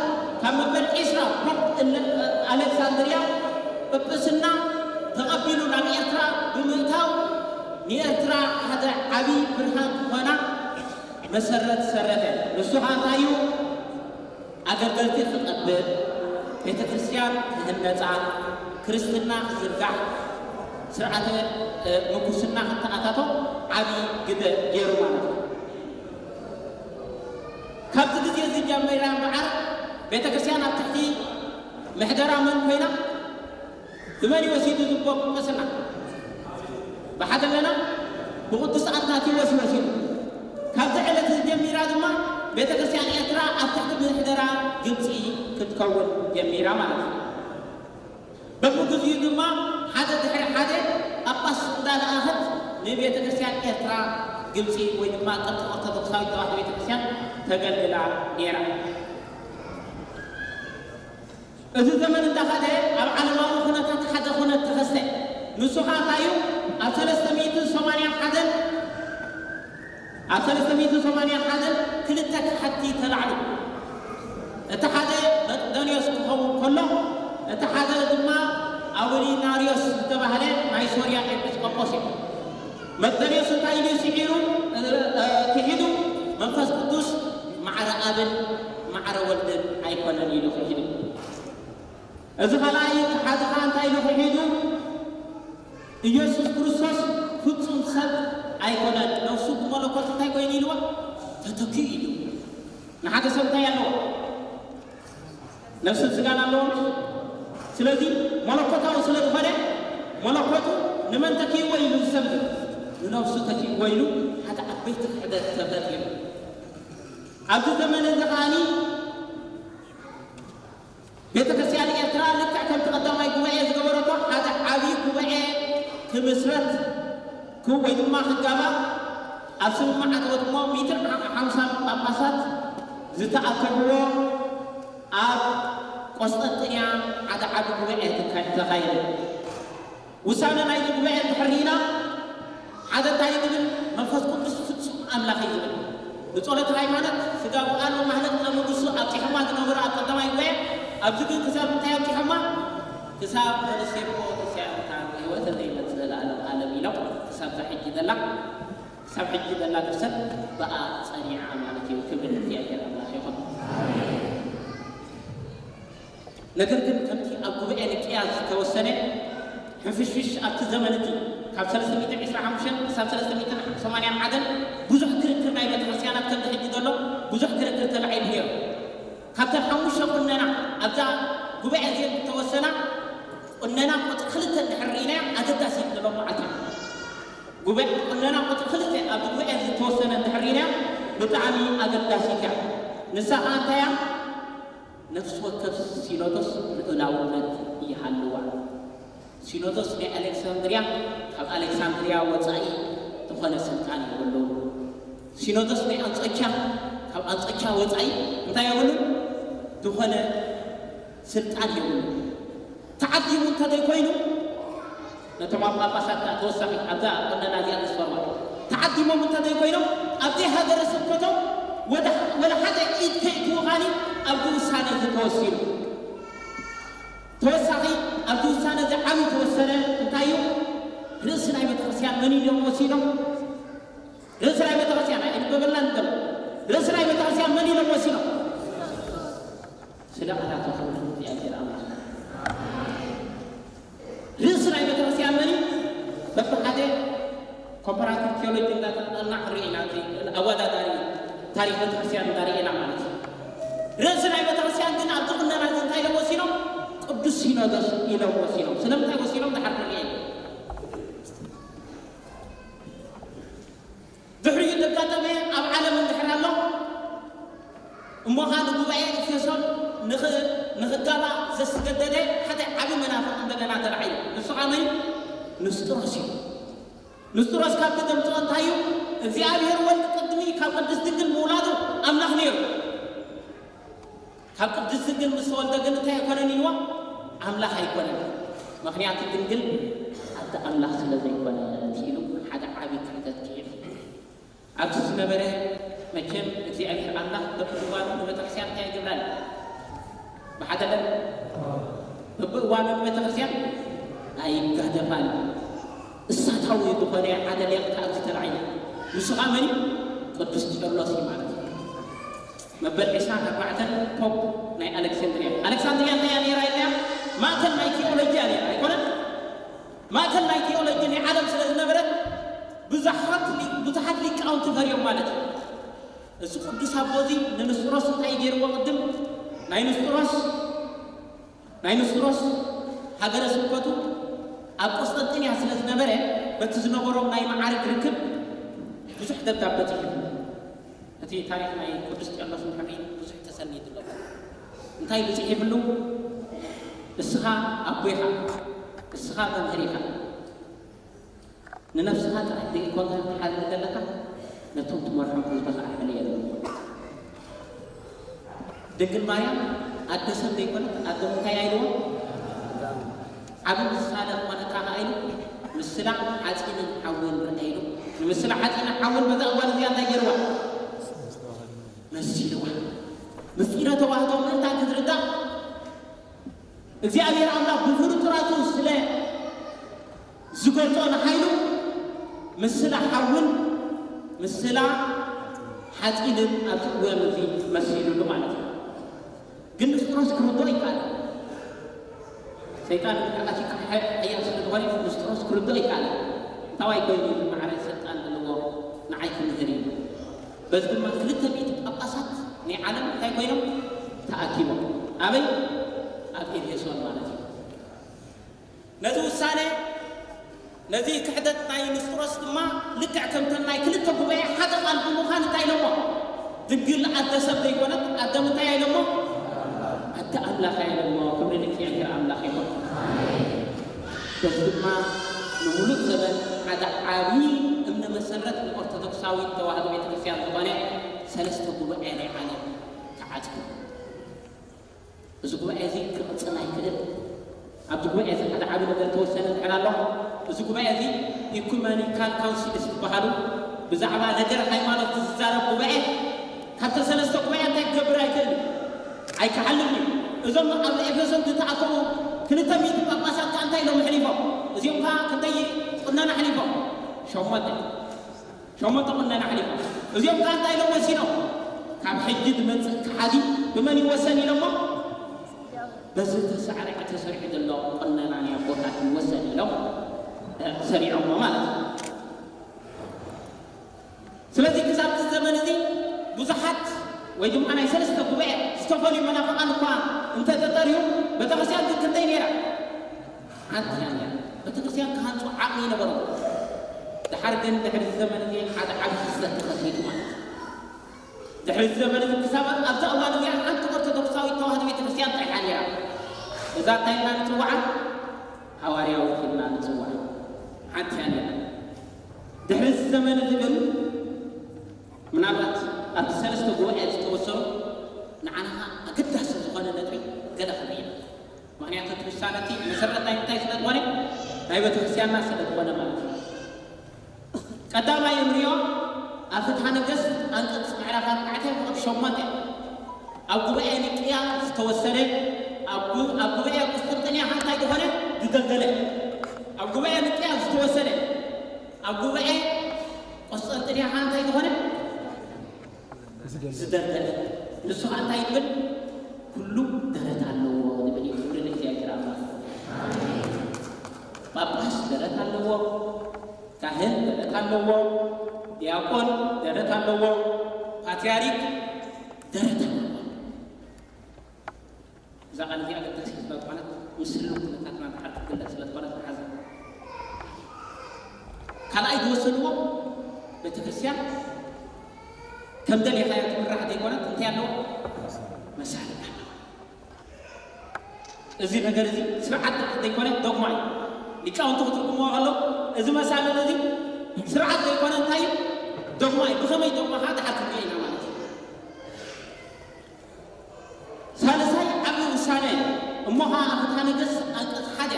ካብ መበል ዒስራ ፖፕ ኣሌክሳንድርያ ጵጵስና ተቐቢሉ ናብ ኤርትራ ብምእታው ንኤርትራ ሓደ ዓቢ ብርሃን ክኾና መሰረት ሰረተ። ንሱ ኸኣ እንታይ እዩ? ኣገልገልቲ ክቐብል፣ ቤተ ክርስቲያን ክህነጻ፣ ክርስትና ክዝርጋሕ፣ ስርዓተ ምንኩስና ክተኣታቶ ዓቢ ግደ ገይሩ ማለት እዩ። ካብቲ ግዜ እዚ ጀሚራ እምበኣር ቤተ ክርስቲያን ኣብ ትሕቲ ምሕደራ መን ኮይና? ብመን እዩ ወሲዱ ዝቦ ጵጵስና? ብሓደ ኣለና? ብቅዱስ ኣትናቴዎስ እዩ ወሲዱ። ካብዚ ዕለት እዚ ጀሚራ ድማ ቤተ ክርስቲያን ኤርትራ ኣብ ትሕቲ ምሕደራ ግብፂ ክትከውን ጀሚራ ማለት እዩ። በብግዚኡ ድማ ሓደ ድሕሪ ሓደ ጳጳስ እንዳለኣኸት ንቤተ ክርስቲያን ኤርትራ ግብፂ ወይ ድማ ቅርፂ ኦርቶዶክሳዊት ተዋህዶ ቤተ ክርስቲያን ተገልግላ ነይራ። እዚ ዘመን እንዳኸደ ኣብ ዓለማዊ ኩነታት ሓደ ኩነት ተኸስተ። ንሱ ኸኣ እንታይ እዩ? ኣብ ሰለስተ ሚእትን ሰማንያን ሓደን ኣብ ሰለስተ ሚእትን ሰማንያን ሓደን ክልተ ከሓድቲ ተላዕሉ። እቲ ሓደ መቅደንዮስ ክኸውን ከሎ፣ እቲ ሓደ ድማ ኣውሊናርዮስ ዝተባህለ ናይ ሶርያ ኤጲስቆጶስ እዩ። መቅደንዮስ እንታይ ኢሉ ስዒሩ፣ እ፣ እ፣ ክሒዱ? መንፈስ ቅዱስ ማዕረ ኣብን ማዕረ ወልድን ኣይኮነን ኢሉ ክሒዱ። እዚ ኻልኣይ ሓደ ኸኣ እንታይ ኢሉ ክሒዱ? ኢየሱስ ክርስቶስ ፍጹም ሰብ ኣይኮነን፣ ነፍሱ ብመለኮት እንታይ ኮይኑ ኢልዎ? ተተኪኡ ኢሉ። ንሓደ ሰብ እንታይ ኣለዎ? ነፍስን ስጋን ኣለዎ። ስለዚ መለኮታዊ ስለ ዝኾነ መለኮቱ ንመን ተኪእዎ ኢሉ ዝሰምዕ? ንነፍሱ ተኪእዎ ኢሉ ሓደ ዓበይቲ ክሕደት ተፈጢሩ። ኣብዚ ዘመን እዚ ኸኣኒ ቤተ ክርስቲያን ኤርትራ ልክዕ ከምቲ ቀዳማይ ጉባኤ ዝገበረቶ ሓደ ዓብዪ ጉባኤ ክምስረት ክ-፣ ወይ ድማ ክጋባእ ኣብ ስምምዕ ኣተወት እሞ ሚእትን ሓምሳን ጳጳሳት ዝተኣከብዎ ኣብ ቆስጠንጥንያ ሓደ ዓቢ ጉባኤ ተካ-፣ ተኻየደ። ውሳነ ናይዚ ጉባኤ እንድሕር ርኢና፣ ሓደ እንታይ ዝብል? መንፈስ ቅዱስ ፍጹም ኣምላኽ እዩ ዝብል። ንጸሎት ሃይማኖት ስጋ ወቃል ወማህለቅ ለመንግስቱ ኣብጺሖማ ዝነበሩ ኣብ ቀዳማይ ጉባኤ፣ ኣብዚ ግን ክሳብ እንታይ ኣብጺሖማ? ክሳብ ወንሴፎ ተስያምታ ህይወተ ዘይመጽእ ለዓለም ዓለም ኢሎም ክሳብ እዛ ሕጂ ዘላ፣ ክሳብ ሕጂ ዘላ ድርሰት ብኣ ጸኒዓ ማለት እዩ። ክብሪ ንእግዚኣብሔር ኣምላኽ ይኹን። ነገር ግን ከምቲ ኣብ ጉባኤ ኒቅያ ዝተወሰነ ሕንፍሽፍሽ ኣብቲ ዘመን እቲ ካብ ሰለስተ ሚእትን ዕስራን ሓሙሽተን ክሳብ ሰለስተ ሚእትን ሰማንያን ሓደን ብዙሕ ክርክር ናይ ቤተ ክርስቲያናት ከምዚ ሕጂ ዘሎ ብዙሕ ክርክር ተላዒሉ ነይሩ። ካብተን ሓሙሽተ ቁነና ኣብዛ ጉባኤ እዚአን ዝተወሰና ቁነና ቁጽሪ ክልተ እንድሕር ርኢናያ ኣገዳሲት ንሎም መዓልቲ ጉባኤ ቁነና ቁጽሪ ክልተ ኣብዚ ጉባኤ ዝተወሰነ እንድሕር ርኢናያ ብጣዕሚ ኣገዳሲት እያ። ንሳ ኸዓ እንታይ እያ? ነፍሲ ወከፍ ሲኖዶስ ልኡላውነት ይሃልዋ። ሲኖዶስ ናይ ኣሌክሳንድርያ ካብ ኣሌክሳንድርያ ወጻኢ ዝኾነ ስልጣን የብሉን። ሲኖዶስ ናይ ኣንጾኪያ ካብ ኣንጾኪያ ወጻኢ እንታይ የብሉን? ዝኾነ ስልጣን የብሉን። ተዓዲሙ እንተዘይኮይኑ ነቶም ኣብ ጳጳሳት ከኣ ተወሳኺ ኣብዛ ቁነና እዚኣ ዘስፈርዋ ተዓዲሞም እንተዘይኮይኖም ኣብ ዘይሃገረ ስብከቶም ወደ፣ ወደ ሓደ ኢድ ከይእትዉ ኻኒ ኣብዚ ውሳነ እዚ ተወሲኑ። ተወሳኺ ኣብዚ ውሳነ እዚ ዓብዪ ተወሰነ እንታይ እዩ? ርእሲ ናይ ቤተክርስትያን መን ኢሎም ወሲኖም? ርእሲ ናይ ቤተክርስትያን ኣይንበበልና ንበል። ርእሲ ናይ ቤተክርስትያን መን ኢሎም ወሲኖም? ስለ ቃላቱ ክብሪ ንእግዚኣብሔር ኣምላኽ። ርእሲ ናይ ቤተክርስትያን መን እዩ? በብሓደ ኮምፓራቲቭ ቲዮሎጂ እንዳተጠና ክንርኢ ኢና፣ እቲ ኣወዳዳሪ ታሪኽ ቤተክርስትያን እንዳርኤና ማለት እዩ። ርእሲ ናይ ቤተክርስትያን ግን ኣብቲ ቁነና እዚ እንታይ ኢሎም ወሲኖም? ቅዱስ ሲኖዶስ ኢሎም ወሲኖም። ስለምንታይ ወሲኖም? ድሓር ክንርኢ ኢና። ድሕሪኡ ዘጋጠመ ኣብ ዓለም እንድሕር ኣሎ እሞ ኸኣ ንጉባኤ ኤፌሶን ንኽ- ንኽጋባእ ዘስገደደ ሓደ ዓቢ መናፍቕ እንደገና ተላዒሉ። ንሱ ኸኣ መን እዩ? ንስጥሮስ እዩ። ንስጥሮስ ካብ ተገምጾ እንታይ እዩ? እግዚኣብሔር ወልድ ቅድሚ ካብ ቅድስት ድንግል ምውላዱ ኣምላኽ ነይሩ። ካብ ቅድስት ድንግል ምስ ተወልደ ግን እንታይ ኣይኮነን ኢልዎ? ኣምላኽ ኣይኮነን። ምኽንያቱ ድንግል ኣደ ኣምላኽ ስለ ዘይኮነት ኢሉ ሓደ ዓቢ ክሕደት ክሒዱ። ኣብዚ ዝነበረ መቸም እግዚኣብሔር ኣምላኽ በብእዋኑ ንቤተክርስትያን እንታይ ይገብራል? ብሓደ ለም በብእዋኑ ንቤተክርስትያን ኣይጋደፋን። እሳታዊ ዝኾነ ሓደ ሊቕ ኣብዚ ተላዒሉ። ንሱ ኸኣ መን እዩ? ቅዱስ ቄርሎስ እዩ ማለት እዩ። መበል ዕስራን ኣርባዕተን ፖፕ ናይ ኣሌክሳንድሪያ። ኣሌክሳንድሪያ እንታይ እያ ነይራ ኢልናያ? ማእከል ናይ ቴዎሎጂ እያ ነይራ ኣይኮነን? ማእከል ናይ ቴዎሎጂ ናይ ዓለም ስለ ዝነበረት ብዙሓት ሊ- ብዙሓት ሊቃውንቲ ፈርዮም ማለት እዩ። እዚ ቅዱስ ኣቦ እዚ ንንስጥሮስ እንታይ ገይርዎ? ቅድም ናይ ንስጥሮስ ናይ ንስጥሮስ ሃገረ ስብከቱ ኣብ ቆስጠንጢንያ ስለ ዝነበረ በቲ ዝነበሮም ናይ መዓርግ ርክብ ብዙሕ ደብዳበ ጽሒፉ። እቲ ታሪኽ ናይ ቅዱስ ቄርሎስ ንክንርኢ ብዙሕ ተሰኒዱ ኣሎ። እንታይ ኢሉ ጽሒፍሉ? እስኻ ኣቦ ኢኻ፣ እስኻ መምህር ኢኻ። ንነፍስኻ ጥራሕ ዘይኮንካ ትሓልፍ ዘለኻ፣ ነቶም ትመርሖም ህዝቢ ኸዓ ሕልየሎም። ድንግል ማርያም ኣደ ሰብ ዘይኮነት፣ ኣደ እንታይ ኢልዎ? ዓቢ ምሳሌ ክኾነካ ኸዓ ኢሉ፣ ምስላ ሓጺንን ሓውን ርኣ ኢሉ። ንምስላ ሓጺንን ሓውን በዛ እዋን እዚኣ እንታይ ገይርዋ? መሲልዋ። ምስጢረ ተዋህዶ ምእንታን ክትርዳእ እግዚኣብሔር ኣምላኽ ብፍርጡራቱ ስለ ዝገልጾ ንሓይሉ ምስላ ሓውን ምስላ ሓጺንን ኣብቲ እዋን እዚ መሲሉሉ ማለት እዩ። ግን ንስጥሮስ ክርድኦ ይከኣል። ሰይጣን ኣቲካ ሓያል ስለ ዝኾነ ንስጥሮስ ክርድኦ ይከኣል። እንታዋይ ኮይኑ ዝመዓረ ስልጣን ዘለዎ ንዓይ ክምህር እዩ። በዚ ድማ ክልተ ሚእቲ ጳጳሳት ናይ ዓለም እንታይ ኮይኖም ተኣኪቦም ኣበይ? ኣብ ኤፌሶን ማለት እዩ። ነዚ ውሳነ ነዚ ክሕደት ናይ ንስጥሮስ ድማ ልክዕ ከምተን ናይ ክልተ ጉባኤ ሓደ ቃል ብምዃን እንታይ ኢሎሞ? ድንግል ኣደ ሰብ ዘይኮነት ኣደ ምንታይ ኢሎሞ? ኣደ ኣምላኽ ኢሎሞ። ክብሪ ንእግዚኣብሔር ኣምላኽ ይኹን። በዚ ድማ ንምሉእ ዘበን ሓደ ዓብዪ እምነ መሰረት ንኦርቶዶክሳዊት ተዋህዶ ቤተክርስትያን ዝኾነ ሰለስተ ጉባኤ ናይ ዓለም ተዓጽዩ። እዚ ጉባኤ እዚ ክቕጽል ኣይክእል። ኣብቲ ጉባኤ እዚ ሓደ ዓቢ ነገር ተወሰነ እንድሕር ኣሎ፣ እዚ ጉባኤ እዚ ኢኩመኒካል ካውንሲልስ ዝበሃሉ ብዛዕባ ነገር ሃይማኖት ዝዛረብ ጉባኤ ካብተን ሰለስተ ጉባኤ እንታይ ክገብር ኣይክእል እዩ? ኣይክሓልፍን እዩ። እዞም ኣብ ኤፌሶን ዝተኣከቡ ክልተ ሚእቲ ጳጳሳት ከኣ እንታይ ኢሎም ኣሕሊፎም? እዚኦም ከኣ ክንደይ ቁነና ኣሕሊፎም? ሸሞንተ። ሸሞንተ ቁነና ኣሕሊፎም። እዚኦም ከኣ እንታይ ኢሎም ወሲኖም? ካብ ሕጂ ዝመጽእ ከሓዲ ብመን ይወሰን ኢሎሞ? በዚ ተሳዕሪዐ ተሰሪሑ ዘሎ ቁነና ናይ ኣቦታት ይወሰን ኢሎም፣ እ፣ ሰሪዖሞ ማለት እዩ። ስለዚ ክሳብ እዚ ዘመን እዚ ብዙሓት ወይ ድማ ናይ ሰለስተ ጉባኤ ዝተፈልዩ መናፍቓን እኳ እንተተጠርዩ፣ ቤተክርስትያን ግን ክንደይ ነይራ? ሓንቲ እያ ነይራ። ቤተክርስትያን ክሃንጹ ዓቕሚ ይነበሮም። ደሓር ግን ድሕሪ እዚ ዘመን እዚ ሓደ ዓቢ ክስተት ተኸሲቱ ማለት እዩ። ድሕሪ እዚ ዘመን እዚ ክሳብ ኣብዛ እዋን እዚኣ ሓንቲ ኦርቶዶክሳዊት ተዋህዶ ቤተክርስትያን ጥራሕ እያ ነይራ። እዛ እንታይ ኢልና ንጽውዓ? ሃዋርያዊት ኢልና ንጽውዓ። ሓንቲ እያ ነይራ። ድሕሪ እዚ ዘመን እዚ ግን ምናልባት ኣብቲ ሰለስተ ጉባኤ ዝተወሰኑ ንዓና ኸኣ ኣገዳሲ ዝኾነ ነጥቢ ገለ ክንርኢ ኢና። ምኽንያቱ እቲ ውሳነ እቲ መሰረት ናይ ምንታይ ስለ ዝኾነ? ናይ ቤተክርስትያንና ስለ ዝኾነ ማለት እዩ። ቀዳማይ እንሪኦ ኣብ ፍትሐ ነገስት ኣንቀጽ ምዕራፍ ኣርባዕተ ቁጽሪ ሸሞንተ ኣብ ጉባኤ ኒቅያ ዝተወሰነ፣ ኣብ ጉ-፣ ኣብ ጉባኤ ቁስጥንጥንያ እንታይ ዝኾነ? ዝደልደለ። ኣብ ጉባኤ ኒቅያ ዝተወሰነ፣ ኣብ ጉባኤ ቁስጥንጥንያ እንታይ ዝኾነ? ዝደልደለ። ንሱ ኸኣ እንታይ ይብል? ኩሉ ደረት ኣለዎ ዝብል እዩ። ክብሪ ንእግዚኣብሔር ኣምላኽ። ጳጳስ ደረት ኣለዎ፣ ካህን ደረት ኣለዎ፣ ዲያቆን ደረት ኣለዎ፣ ፓትርያርክ ደረት ኣለዎ። እዛ ቃል እዚኣ ኣገዳሲት ስለ ዝኾነት፣ ምስ ህልው ኩነታትና ድሓር ትግለጽ ስለ ዝኾነት ንሓዛ። ካልኣይ ዝወሰንዎ፣ ቤተክርስትያን ከም ደሌኻዮ ትምራሕ ዘይኮነት፣ እንታይ ኣለዋ? መሳርዕ ኣለዋ። እዚ ነገር እዚ ስርዓት ዘይኮነ ዶግማ እዩ። ሊቃውንቲ ክትርጉምዎ ከለዉ እዚ መሳልል እዚ ስርዓት ዘይኮነ እንታይ እዩ? ዶግማ እዩ። ብኸመይ ዶግማ ከዓ ድሓር ክንሪኦ ኢና ማለት እዩ። ሳልሳይ ዓብዪ ውሳነ እሞ ከዓ ኣብ ፍትሐ ነገስት ኣንቀጽ ሓደ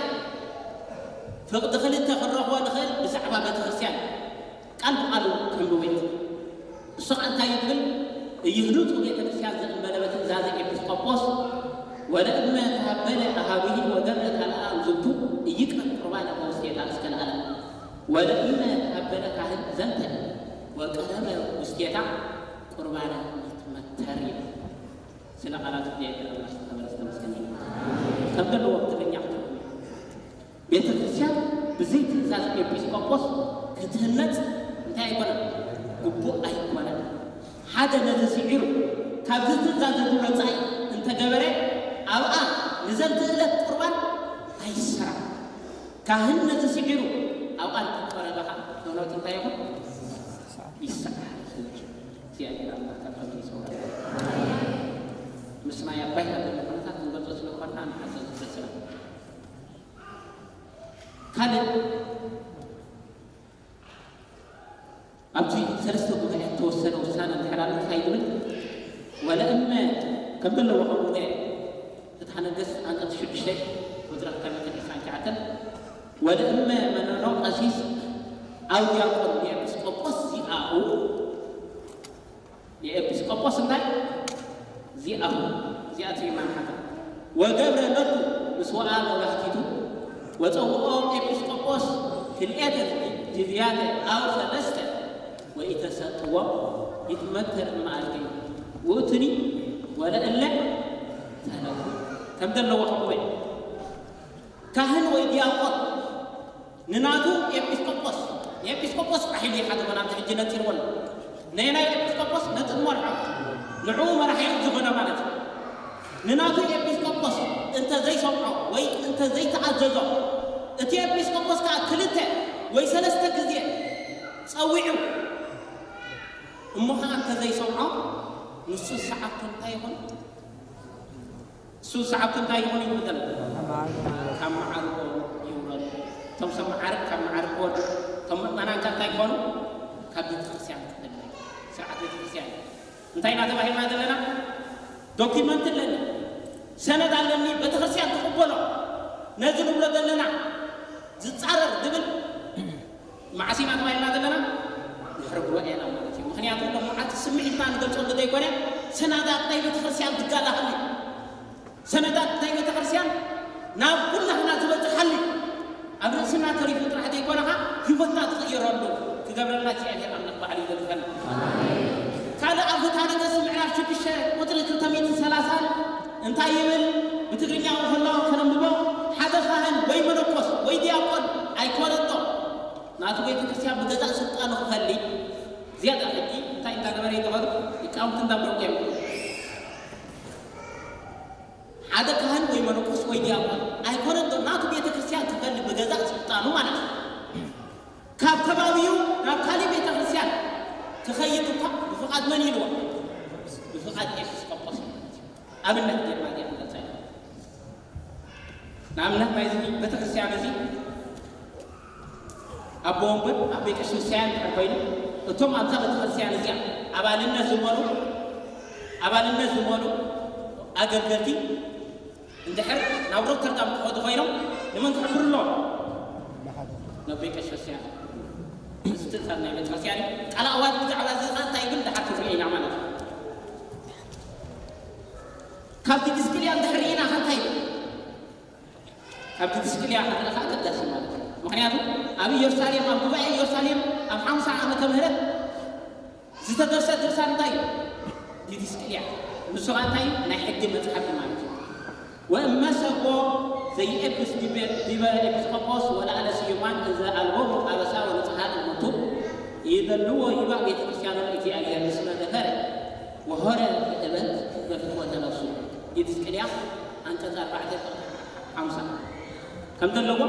ፍቕዲ ክልተ ክንረኽቦ ንኽእል ብዛዕባ ቤተክርስትያን ቃል ብቃሉ ከንብቦ እዩ። እሱ ከዓ እንታይ ይብል? እይህሉቱ ቤተክርስትያን ዘእንበለ በትእዛዘ ኤጲስቆጶስ ወለእመ ተሃበለ ኣሃዊሂ ወገብረ ካልኣ ውዝቱ እይቅረብ ቁርባነ በውስቴታ እስከ ለዓለም ወለእመ ተሃበለ ካህን ዘንተ ወቀረበ ውስቴታ ቁርባነ ይትመተር ይብል። ስለ ቃላት እግዚኣብሔር ኣምላኽ ዝተኸበረ ዝተመስገነ ይሁን። ከም ዘለዎ ብትግርኛ ክትርጉም ቤተ ክርስቲያን ብዘይ ትእዛዝ ኤጲስቆጶስ ክትህነጽ እንታይ ኣይኮነን? ግቡእ ኣይኮነን። ሓደ ነዚ ስዒሩ ካብዚ ትእዛዝ እዚ ወጻኢ እንተገበረ ኣብኣ ንዘንትእለት ቁርባን ኣይሰራን። ካህን ነዚ ስዒሩ ኣብኣ እንተቆረበ ከዓ ክህነቱ እንታይ ይኹን? ይሰዓር። እግዚኣብሔር ኣምላኽ ካብ ከምዚ ይሰውረና። ምስ ናይ ኣባይና ዘሎ ኩነታት ክንገልጾ ስለ ዝኾንና ንሓዘን ዝገስና። ካልእ ኣብዚ ሰለስተ ጉባኤ እተወሰነ ውሳነ እንድሕር ኣሎ እንታይ ዝብል? ወለእመ ከም ዘለዎ ከም ጉባኤ ፍትሐ ነገስት ኣንቀጽ ሽዱሽተ ቁጽሪ ክልተ መቶ ዕስራን ትሽዓተን ወለእመ መነኖ ቀሲስ ኣው ዲያቆን ንኤጲስቆጶስ ዚኣኡ ንኤጲስቆጶስ እንታይ ዚኣሁ ዚኣቱ ይማን ሓታ ወገብረ ለቱ ምስ ወኣ መባህቲቱ ወፀውኦ ኤጲስቆጶስ ክልኤተ ጅዝያተ ኣው ሰለስተ ወኢተሰጥዎ ይትመተር እምኣልኪ ውእቱኒ ወለእለ ተለው ከም ዘለዎ ከብወ ካህን ወይ ዲያቆን ንናቱ ኤጲስቆጶስ ንኤጲስቆጶስ ጥራሕ ኢሉ ይሓተቦ ናብቲ ሕጂ ነፂርዎ ኣሎ። ነየናይ ኤጲስቆጶስ? ነቲ ዝመርሖ ንዕኡ መራሒ ዝኾነ ማለት እዩ። ንናቱ ኤጲስቆጶስ እንተ ዘይሰምዖ ወይ እንተ ዘይተኣዘዞ እቲ ኤጲስቆጶስ ከዓ ክልተ ወይ ሰለስተ ግዜ ፀዊዑ እሞ ከዓ እንተ ዘይሰምዖ ንሱ ሰዓብቱ እንታይ ይኹን? እሱ ሰዓብቲ እንታይ ይኹን ይብሉ ዘሎ? ካብ መዓርጎ ይውረዱ። እቶም ሰብ መዓርግ ካብ መዓርግ ክወርዱ፣ እቶም ምእመናን ከ እንታይ ክኾኑ? ካብ ቤተክርስትያን ክፍለዩ። ስርዓት ቤተክርስትያን እንታይ ኢና ተባሂልና ዘለና? ዶኪመንት ኣለኒ፣ ሰነድ ኣለኒ፣ ቤተክርስትያን ትቕበሎ። ነዚ ንብሎ ዘለና ዝፃረር ዝብል መዓስ ኢና ተባሂልና ዘለና? ድሕሪ ጉባኤና ማለት እዩ። ምኽንያቱ እቶም መዓልቲ ስምዒትና ንገልፀሉ ዘይኮነ ሰነዳት ናይ ቤተክርስትያን ትጋላሃሉ ሰነዳት ናይ ቤተክርስትያን ናብ ኩላህና ዝበፅሓሉ ኣብ ርእስና ተሪፉ ጥራሕ ዘይኮነኻ ህይወትና ትቕይረሉ ክገብረልና እግዚኣብሔር ኣምላኽ ባዕሉ ይደግፈና። ካልእ ኣብ ፍትሐ ነገስት ምዕራፍ ሽዱሽተ ቁፅሪ ክልተ ሚእትን ሰላሳን እንታይ ይብል? ብትግርኛ ከሎ ከነንብቦ ሓደ ካህን ወይ መነኮስ ወይ ዲያቆን ኣይኮነቶ ናቱ ቤተክርስትያን ብገዛእ ስልጣኑ ክፈሊ ዝያዳ ሕጂ እንታይ እንዳገበረ ይተኸሉ ሊቃውንቲ እንዳብረቁ እዮም። ሓደ ካህን ወይ መነኮስ ወይ ዲያቆን ኣይኮነን ዶ ናቱ ቤተክርስትያን ክፈሊ ብገዛእ ስልጣኑ ማለት እዩ። ካብ ከባቢኡ ናብ ካሊእ ቤተክርስትያን ክኸይድ እኳ ብፍቓድ መን ኢልዎ? ብፍቓድ ኤጲስቆጶስ እዩ ማለት እዩ። ኣብነት ጌርና ዲያ ንገልጻ ኢና። ንኣብነት ናይዚ ቤተክርስትያን እዚ ኣቦ ወንበር ኣብ ቤተ ክርስቲያን እንድሕር ኮይኑ እቶም ኣብዛ ቤተክርስትያን እዚኣ ኣባልነት ዝመሩ ኣባልነት ዝመሩ ኣገልገልቲ እንድሕር ናብ ሮተርዳም ክኸዱ ኮይኖም ንመን ክሕብሩ ኣለዎም? ናብ ቤተ ክርስቲያን። እዚ ትእዛዝ ናይ ቤተ ክርስቲያን እዩ። ቃል ኣዋጅ ብዛዕባ እዚ ኸዓ እንታይ ይብል ድሓር ክንሪኦ ኢና ማለት እዩ። ካብ ዲድስቅልያ እንድሕር ርኢና ኸ እንታይ ይብል? ካብ ዲድስቅልያ ክንርኢ ኸዓ ኣገዳሲ ማለት እዩ። ምኽንያቱ ኣብ ኢየሩሳሌም ኣብ ጉባኤ ኢየሩሳሌም ኣብ ሓምሳ ዓመተ ምህረት ዝተደርሰ ድርሳን እንታይ እዩ? ዲድስቅልያ። ንሱ ኸዓ እንታይ እዩ? ናይ ሕጊ መጽሓፍ እዩ ማለት እዩ። ወእመሰቦ ዘይኤብስ ዲበ ዲበ ኤጲስቆጶስ ወለዓለ ስዩማን እንዘ አልቦሙ አበሳ ወንጽሐ እሙንቱ ይደልዎ ይባእ ቤተ ክርስቲያኑ ለእግዚአብሔር እስመ ደፈረ ወሆረ ብእበንት በፍትወተ ነፍሱ። ዲድስቅልያ ዓንቀጽ ኣርባዕተ ሓምሳ ከም ዘለዎ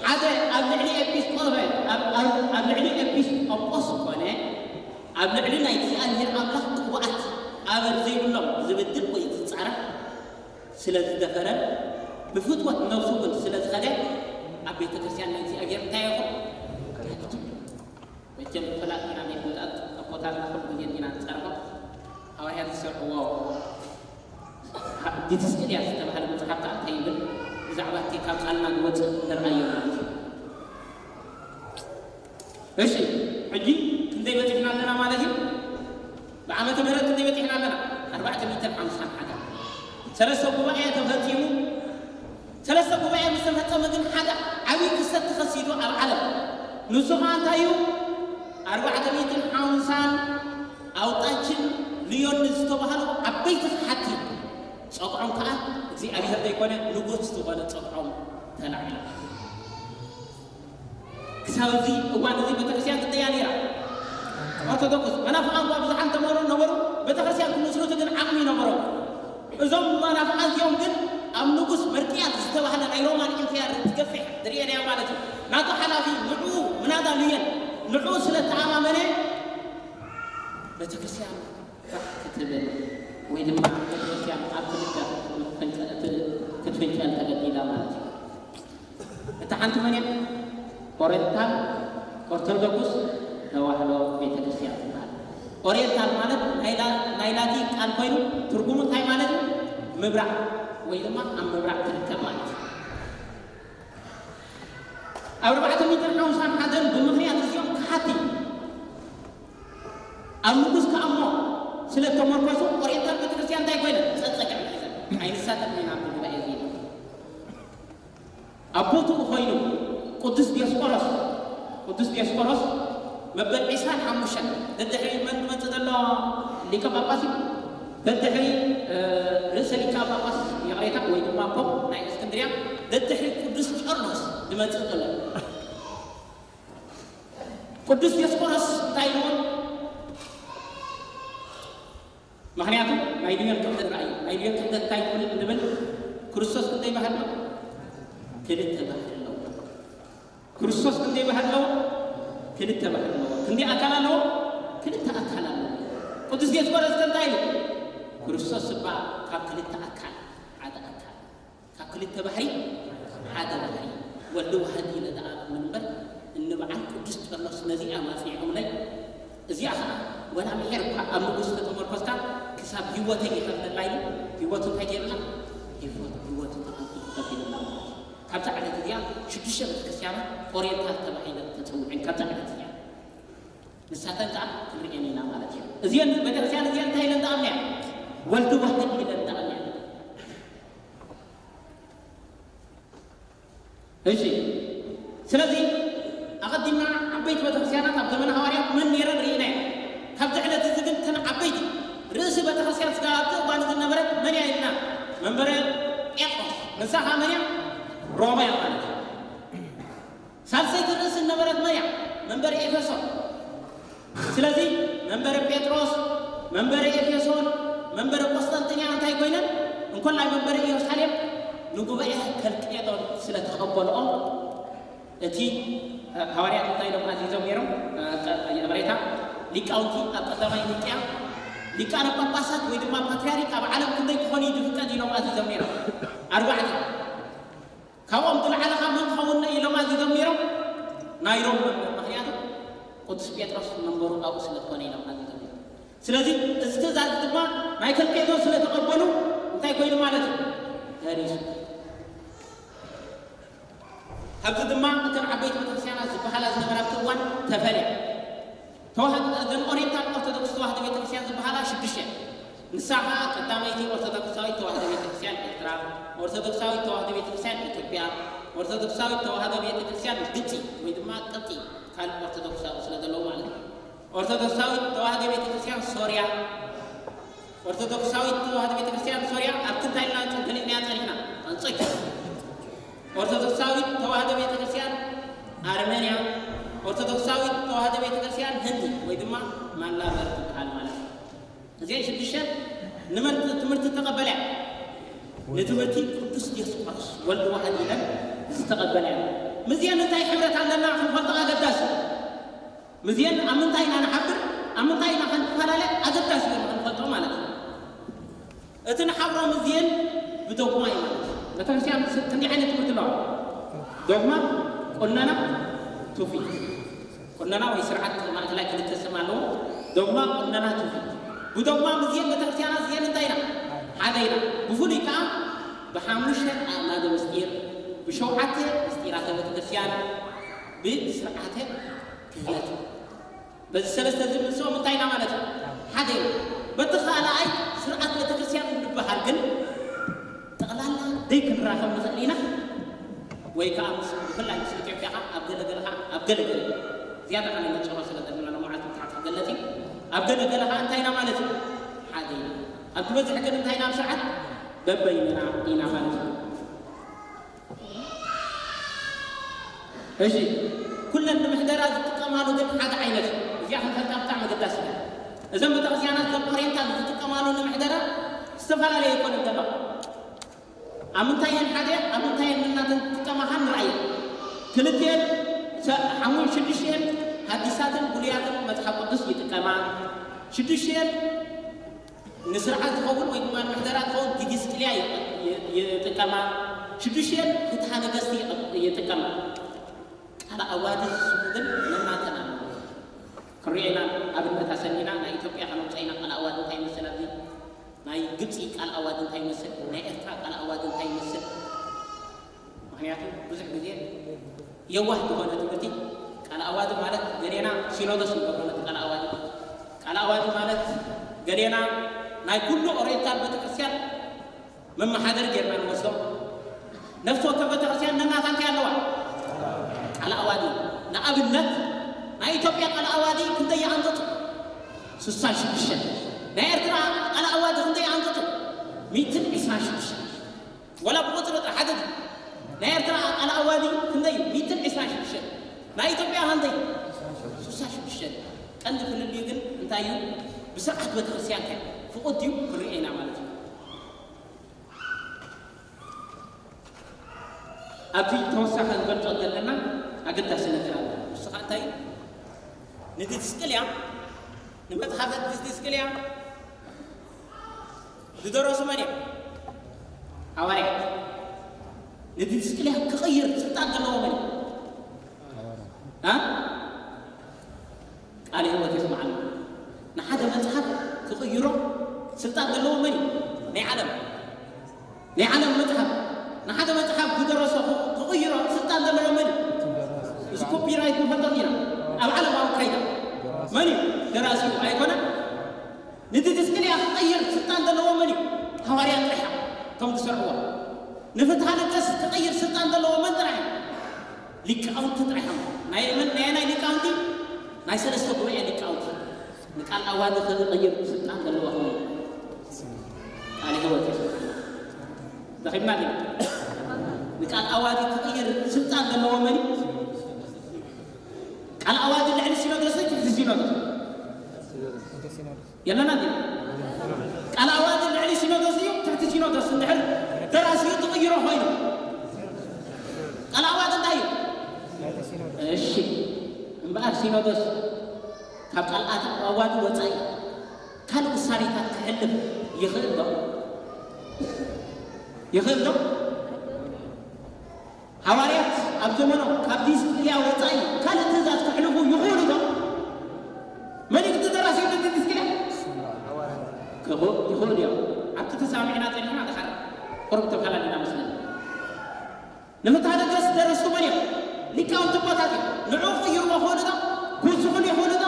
ሓደ ኣብ ልዕሊ ኤጲስቆ ኣብ ኣብ ኣብ ልዕሊ ኤጲስቆጶስ ኮነ ኣብ ልዕሊ ናይ እግዚኣብሔር ኣምላኽ ቅቡኣት ኣበር ዘይብሎም ዝብድል ወይ ዝጻረፍ ስለ ዝደፈረን ብፍትወት ነብሱ እውን ስለ ዝኸደ ኣብ ቤተ ክርስቲያን ናይ እግዚኣብሔር እንታይ ይኹን? መቸም ፈላጥ ኢና ናይ ፍልጠት ኣቦታትና ኩሉ ግዜ ኢና ንፀርሖ። ሃዋርያት ዝሰርሕዎ ዲትስቅልያ ዝተባህለ መፅሓፍ ከዓ እንታይ ይብል? ብዛዕባ እቲ ካብ ቃልና ዝወፅእ ንርኣዮ ማለት እዩ። እሺ፣ ሕጂ ክንደይ በፂሕና ኣለና ማለት እዩ? ብዓመተ ምህረት ክንደይ በፂሕና ኣለና? ኣርባዕተ ሚእትን ሓምሳን ሓደ። ሰለስተ ጉባኤ ተፈፂሙ። ሰለስተ ጉባኤ ምስ ተፈፀመ ግን ሓደ ዓብዪ ክስተት ተኸሲቱ ኣብ ዓለም። ንሱ ከዓ እንታይ እዩ? ኣርባዕተ ሚእትን ሓምሳን ኣውጣችን ልዮን ዝተባህሉ ዓበይቲ ከሓድቲ ፀግዖም ከዓ እግዚኣብሔር ዘይኮነ ንጉስ ዝኾነ ፀግዖም ተላዒሎም። ክሳብ እዚ እዋን እዚ ቤተክርስትያን ክንደያ ነይራ? ኦርቶዶክስ መናፍቃን እኳ ብዙሓት እንተመሩ ነበሩ፣ ቤተክርስትያን ክምስርቱ ግን ዓቕሚ ነበሮም። እዞም መናፍቃን እዚኦም ግን ኣብ ንጉስ መርቅያስ ዝተባህለ ናይ ሮማን ኢምፓየር ትገፍሕ ትርእየናያ ማለት እዩ። ናቱ ሓላፊ ንዕኡ ምናዳ ልየን ንዕኡ ስለ ተኣማመነ ቤተክርስትያን ክትብል ወይ ድማ ቤተክርስትያን ኣብ ክልተ ክትፍንጨል ተገዲዳ ማለት እዩ። እታ ሓንቲ መን እያ? ኦሪየንታል ኦርቶዶክስ ተዋህዶ ቤተክርስትያን ትበሃል። ኦሪየንታል ማለት ናይ ላ-፣ ናይ ላቲን ቃል ኮይኑ ትርጉሙ እንታይ ማለት እዩ? ምብራቕ ወይ ድማ ኣብ ምብራቕ ትርከብ ማለት እዩ። ኣብ ኣርባዕተ ሚእትን ሓምሳን ሓደን ብምኽንያት እዚኦም ክሓቲ ኣብ ንጉስ ከኣሞ ስለ እተመርኮሱ ኦሪየንታል ቤተክርስትያን እንታይ ኮይነ? ጸጸግዕ ሒዘን ኣይንሳተፍን ኢና ኣብቲ ጉባኤ እዚ ኢሎም። ኣብ ቦትኡ ኮይኑ ቅዱስ ዲዮስቆሮስ፣ ቅዱስ ዲዮስቆሮስ መበል ዒስራን ሓሙሽተን ደድሕሪ መን ዝመጽእ ዘሎ ሊቀ ጳጳስ እዩ? ደድሕሪ፣ እ፣ ርእሰ ሊቀ ጳጳስ ይቕሬታ ወይ ድማ ፖፕ ናይ እስክንድርያ ደድሕሪ ቅዱስ ቄርሎስ ዝመጽእ ዘሎ። ቅዱስ ዲዮስቆሮስ እንታይ ኢልዎ? ምኽንያቱ ናይ ልዮን ክሕደት ርኣዩ። ናይ ልዮን ክሕደት እንታይ ትብል እንብል? ክርስቶስ ክንደይ ባህሪ ኣለዎ? ክልተ ባህሪ ኣለዎ። ክርስቶስ ክንደይ ባህሪ ኣለዎ? ክልተ ባህሪ ኣለዎ። ክንደይ ኣካል ኣለዎ? ክልተ ኣካል ኣለዎ። ቅዱስ ዲዮስቆሮስ ከ እንታይ ኢሉ? ክርስቶስ እባ ካብ ክልተ ኣካል ሓደ ኣካል፣ ካብ ክልተ ባህሪ ሓደ ባህሪ፣ ወልድ ዋህድ ኢለ ዝኣምን እምበር፣ እንበዓል ቅዱስ ቄርሎስ ነዚኣ ማጽኒዖምለይ። እዚኣ ኸዓ ወላ ምሒር እኳ ኣብ ንጉስ ተተመርኮስካ ክሳብ ህይወተይ ይኸፍለላ ኢሉ ህይወቱ እንታይ ገይርላ? ህይወት-፣ ህይወቱ ተቐቢሉ ከፊሉላ ማለት እዩ። ካብዛ ዕለት እዚኣ ሽዱሽተ ቤተክርስትያናት ኦሪየንታል ተባሂለን ተጸውዐን ካብዛ ዕለት እዚኣ። ንሳተን ከዓ ክንርእየን ኢና ማለት እዩ። እዚአን ቤተክርስትያን እዚአን እንታይ ኢለን ዝኣምንያ? ወልድ ዋህድ ኢለን ዝኣምንያ። እሺ፣ ስለዚ ኣቐዲምና ዓበይቲ ቤተክርስትያናት ኣብ ዘመነ ሃዋርያት መን ነይረን ርኢና ኢና። ካብዚ ዕለት እዚ ግን እተን ዓበይቲ ርእሲ ቤተክርስትያን ስጋ ኣብቲ እዋን ዝነበረት መን እያ ኢልና? መንበረ ጴጥሮስ። ንሳ ኸዓ መን እያ? ሮማ እያ ማለት እዩ። ሳልሰይቲ ርእሲ ዝነበረት መን እያ? መንበረ ኤፌሶን። ስለዚ መንበረ ጴጥሮስ፣ መንበረ ኤፌሶን፣ መንበረ ቆስጠንጥንያ እንታይ ኮይነን? እንኮላይ መንበረ ኢየሩሳሌም ንጉባኤ ከልቄዶን ስለ ተቐበልኦ፣ እቲ ሃዋርያት እንታይ ኢሎም ኣዚዞም ነይሮም? ይቕሬታ፣ ሊቃውንቲ ኣብ ቀዳማይ ኒቅያ ሊቃነ ጳጳሳት ወይ ድማ ፓትርያርክ ኣብ ዓለም ክንደይ ክኾኑ እዩ ዝፍቀድ ኢሎም ኣዚዞም ነይሮም? ኣርባዕተ። ካብኦም ዝለዓለ ኸ መን ክኸውን ኢሎም ኣዚዞም ነይሮም? ናይ ሮም መንበር። ምኽንያቱ ቅዱስ ጴጥሮስ መንበሩ ኣብኡ ስለ ዝኾነ ኢሎም ኣዚዞም ነይሮም። ስለዚ እዚ ትእዛዝ ድማ ናይ ከልቄዶን ስለ ተቐበሉ እንታይ ኮይኑ ማለት እዩ? ተሪሱ። ካብዚ ድማ እተን ዓበይቲ ቤተክርስትያናት ዝበሃላ ዝነበራ ኣብቲ እዋን ተፈልያ። ተዋህዶ፣ እዘን ኦሪየንታል ኦርቶዶክስ ተዋህዶ ቤተክርስትያን ዝበሃላ ሽዱሽተ እየን። ንሳ ኸዓ ቀዳመይቲ ኦርቶዶክሳዊት ተዋህዶ ቤተክርስትያን ኤርትራ፣ ኦርቶዶክሳዊት ተዋህዶ ቤተክርስትያን ኢትዮጵያ፣ ኦርቶዶክሳዊት ተዋህዶ ቤተክርስትያን ግብፂ ወይ ድማ ቅብጢ፣ ካልእ ኦርቶዶክሳዊ ስለ ዘለዉ ማለት እዩ። ኦርቶዶክሳዊት ተዋህዶ ቤተክርስትያን ሶርያ፣ ኦርቶዶክሳዊት ተዋህዶ ቤተክርስትያን ሶርያ ኣብ ክንታይ ኢልና ገሊጽናያ ጸኒሕና? ኣንጾኪያ። ኦርቶዶክሳዊት ተዋህዶ ቤተክርስትያን ኣርመንያ፣ ኦርቶዶክሳዊት ተዋህዶ ቤተክርስትያን ህንዲ ወይ ድማ ማላበር ትበሃል ማለት እዩ። እዚአን ሽዱሽተ ንመን ትምህርቲ ተቐበላ? ንትምህርቲ ቅዱስ ዲዮስቆሮስ ወልድ ዋህድ ኢለን ዝተቐበላ እየን። ምስዚአን እንታይ ሕብረት ኣለና ክንፈልጦ ኣገዳሲ። ምስዚአን ኣብ ምንታይ ኢና ንሓብር፣ ኣብ ምንታይ ኢና ክንፈላለ ኣገዳሲ እዩ ክንፈልጦ ማለት እዩ። እቲ ንሓብሮ ምስዚአን ብዶግማ እዩ ማለት እዩ። ቤተክርስትያን ክንደይ ዓይነት ትምህርቲ ኣለዋ? ዶግማ፣ ቁነና፣ ትውፊት። ቁነና ወይ ስርዓት ማእከላይ ክልተ ስም ኣለዎ። ዶግማ፣ ቁነና፣ ትውፊት። ብዶግማ ምስዚአን ቤተክርስትያናት እዚአን እንታይ ኢና? ሓደ ኢና። ብፍሉይ ከዓ ብሓሙሽተ ኣእማደ ምስጢር፣ ብሸውዓተ ምስጢራተ ቤተክርስትያን፣ ብስርዓተ ክህነት። በዚ ሰለስተ እዚ ምስኦም እንታይ ኢና ማለት እዩ? ሓደ ኢና። በቲ ካልኣይ ስርዓት ቤተክርስትያን እንድበሃል ግን ጠቕላላ ደይ ክንራኸብ ንኽእል ኢና። ወይ ከዓ ምስ ብፍላይ ምስ ኢትዮጵያ ከዓ ኣብ ገለገለ ከዓ ኣብ ገለገለ ዝያዳ ከነ ነጨሮ ስለ ዘለና ንመዓልቲ ብታሕቲ ክገለፅ እዩ። ኣብ ገለገለ ከዓ እንታይ ኢና ማለት እዩ? ሓደ ኢና። ኣብ ዝበዝሕ ግን እንታይ ኢና? ኣብ ስርዓት በበይንና ኢና ማለት እዩ። እሺ፣ ኩለን ንምሕደራ ዝጥቀማሉ ግን ሓደ ዓይነት እዩ። እዚኣ ክንፈልጣ ብጣዕሚ ኣገዳሲ እያ። እዘን ቤተክርስትያናት ከም ኦሪየንታል ዝጥቀማሉ ንምሕደራ ዝተፈላለየ ኣይኮነን። ገባ ኣብ ምንታይ እየን ሓደ፣ ኣብ ምንታይ እየን እናተን ዝጥቀማ ከዓ ንርኣየን። ክልቲኤን ሰ-፣ ሓሙን ሽዱሽቲኤን ሓዲሳትን ብሉያትን መጽሓፍ ቅዱስ ይጥቀማ። ሽዱሽቲኤን ንስርዓት ዝኸውን ወይ ድማ ንምሕደራ ዝኸውን ዲዲስቅልያ ይጠ-፣ ይ-፣ ይጥቀማ። ሽዱሽቲኤን ፍትሓ ነገስቲ ይጠ-፣ ይጥቀማ። ቃል ኣዋዲ ዝስሙ ግን ነናተን ኣለዎ። ክንሪኦ ኢና፣ ኣብነት ኣሰኒና ናይ ኢትዮጵያ ከነውፅእ ኢና። ቃል ኣዋዲ እንታይ ይመስል? ኣብዚ ናይ ግብፂ ቃል ኣዋዲ እንታይ ይመስል? ናይ ኤርትራ ቃል ኣዋዲ እንታይ ይመስል? ምኽንያቱ ብዙሕ ግዜ የዋህ ዝኾነ ትምህርቲ፣ ቃል ኣዋዲ ማለት ገሌና ሲኖዶስ ንገብሮ ነቲ ቃል ኣዋዲ። ቃል ኣዋዲ ማለት ገሌና ናይ ኩሉ ኦሪየንታል ቤተክርስትያን መመሓደሪ ጌርና ንወስዶ። ነፍሲ ወከፍ ቤተክርስትያን ነናታ እንታይ ኣለዋ? ቃል ኣዋዲ። ንኣብነት ናይ ኢትዮጵያ ቃል ኣዋዲ ክንደይ ይኣንጥጡ? ስሳን ሽዱሽተን። ናይ ኤርትራ ቃል ኣዋዲ ክንደይ ይኣንጥጡ? ሚእትን ዕስራን ሽዱሽተን። ወላ ብቁፅሪ ጥራሕ ሓደ ድዩ? ናይ ኤርትራ ቃል ኣዋዲ ክንደይ እዩ? ሚእትን ዕስራን ሽዱሽተን። ናይ ኢትዮጵያ ክንደይ? ስሳን ሽዱሽተን። ቀንዲ ፍልልዩ ግን እንታይ እዩ? ብስርዓት ቤተክርስትያን ከ ፍቑድ ድዩ? ክንሪኦ ኢና ማለት እዩ። ኣብዚ ተወሳኺ ክንገልጾ ዘለና ኣገዳሲ ነገር ኣሎ። ንሱ ኸኣ እንታይ እዩ? ንዲድስቅልያ፣ ንመጽሓፈ ዲድስቅልያ ዝደረሱ መን እዮም? ሃዋርያት። ንዲድስቅልያ ክቕይር ስልጣን ዘለዎ መን እዩ? እ? ቃለ ህይወት የስምዓልና። ንሓደ መጽሓፍ ክቕይሮ ስልጣን ዘለዎ መን እዩ? ናይ ዓለም፣ ናይ ዓለም መጽሓፍ። ንሓደ መጽሓፍ ዝደረሶ ክቕይሮ ስልጣን ዘለዎ መን እዩ? እዚ ኮፒራይት ንፈልጦ ኢና። ኣብ ዓለማዊ ካይዳ መን እዩ ደራሲኡ? ኣይኮነን። ንዲድስቅልያ ክቕይር ስልጣን ዘለዎ መን እዩ? ሃዋርያት ጥራሕ እዮም፣ እቶም ዝሰርዕዎ። ንፍትሐ ነገስት ክቕይር ስልጣን ዘለዎ መን ጥራሕ እዩ? ሊቃውንቲ ጥራሕ እዮም። ናይ መን፣ ናይ ናይ ሊቃውንቲ? ናይ ሰለስተ ጉባኤ ሊቃውንቲ። ንቃል ኣዋዲ ክቕይር ስልጣን ዘለዎ ኾነ። ቃለ ህይወት እዩ። ደኺምና ዲና? ንቃል ኣዋዲ ክቕይር ስልጣን ዘለዎ መን እዩ? ቃል ኣዋዲ ልዕሊ ሲኖዶስ እዩ፣ ትሕቲ ሲኖዶስ? የለና ዲና? ቃል ኣዋዲ ልዕሊ ሲኖዶስ እዩ፣ ትሕቲ ሲኖዶስ? እንድሕር ደራሲኡ ትቕይሮ ኮይኑ፣ ቃል ኣዋዲ እንታይ እዩ? እሺ፣ እምበኣር ሲኖዶስ ካብ ቃል ኣት-፣ ኣዋዲ ወጻኢ ካልእ ውሳኔታት ክሕልፍ ይኽእል ዶ? ይኽእል ዶ? ሃዋርያት ኣብ ዘመኖም ካብ ዲስቅልያ ወጻኢ ካልእ ትእዛዝ ክሕልፉ ይኽእሉ ዶ? መን እዩ እቲ ደራሲ እቲ ዲስቅልያ? ክኽእ-፣ ይኽእሉ እዮም። ኣብቲ ተሰማሚዕና ጸኒሕና ድሓር ቁሩብ ተፈላለና መስለኒ። ንፍትሐ ነገስት ደረስቱ መን እዮም? ሊቃውንቲ ኣቦታት እዮም። ንዑ ክቕይርዎ ይኽእሉ ዶ? ክውስኹሉ ይኽእሉ ዶ?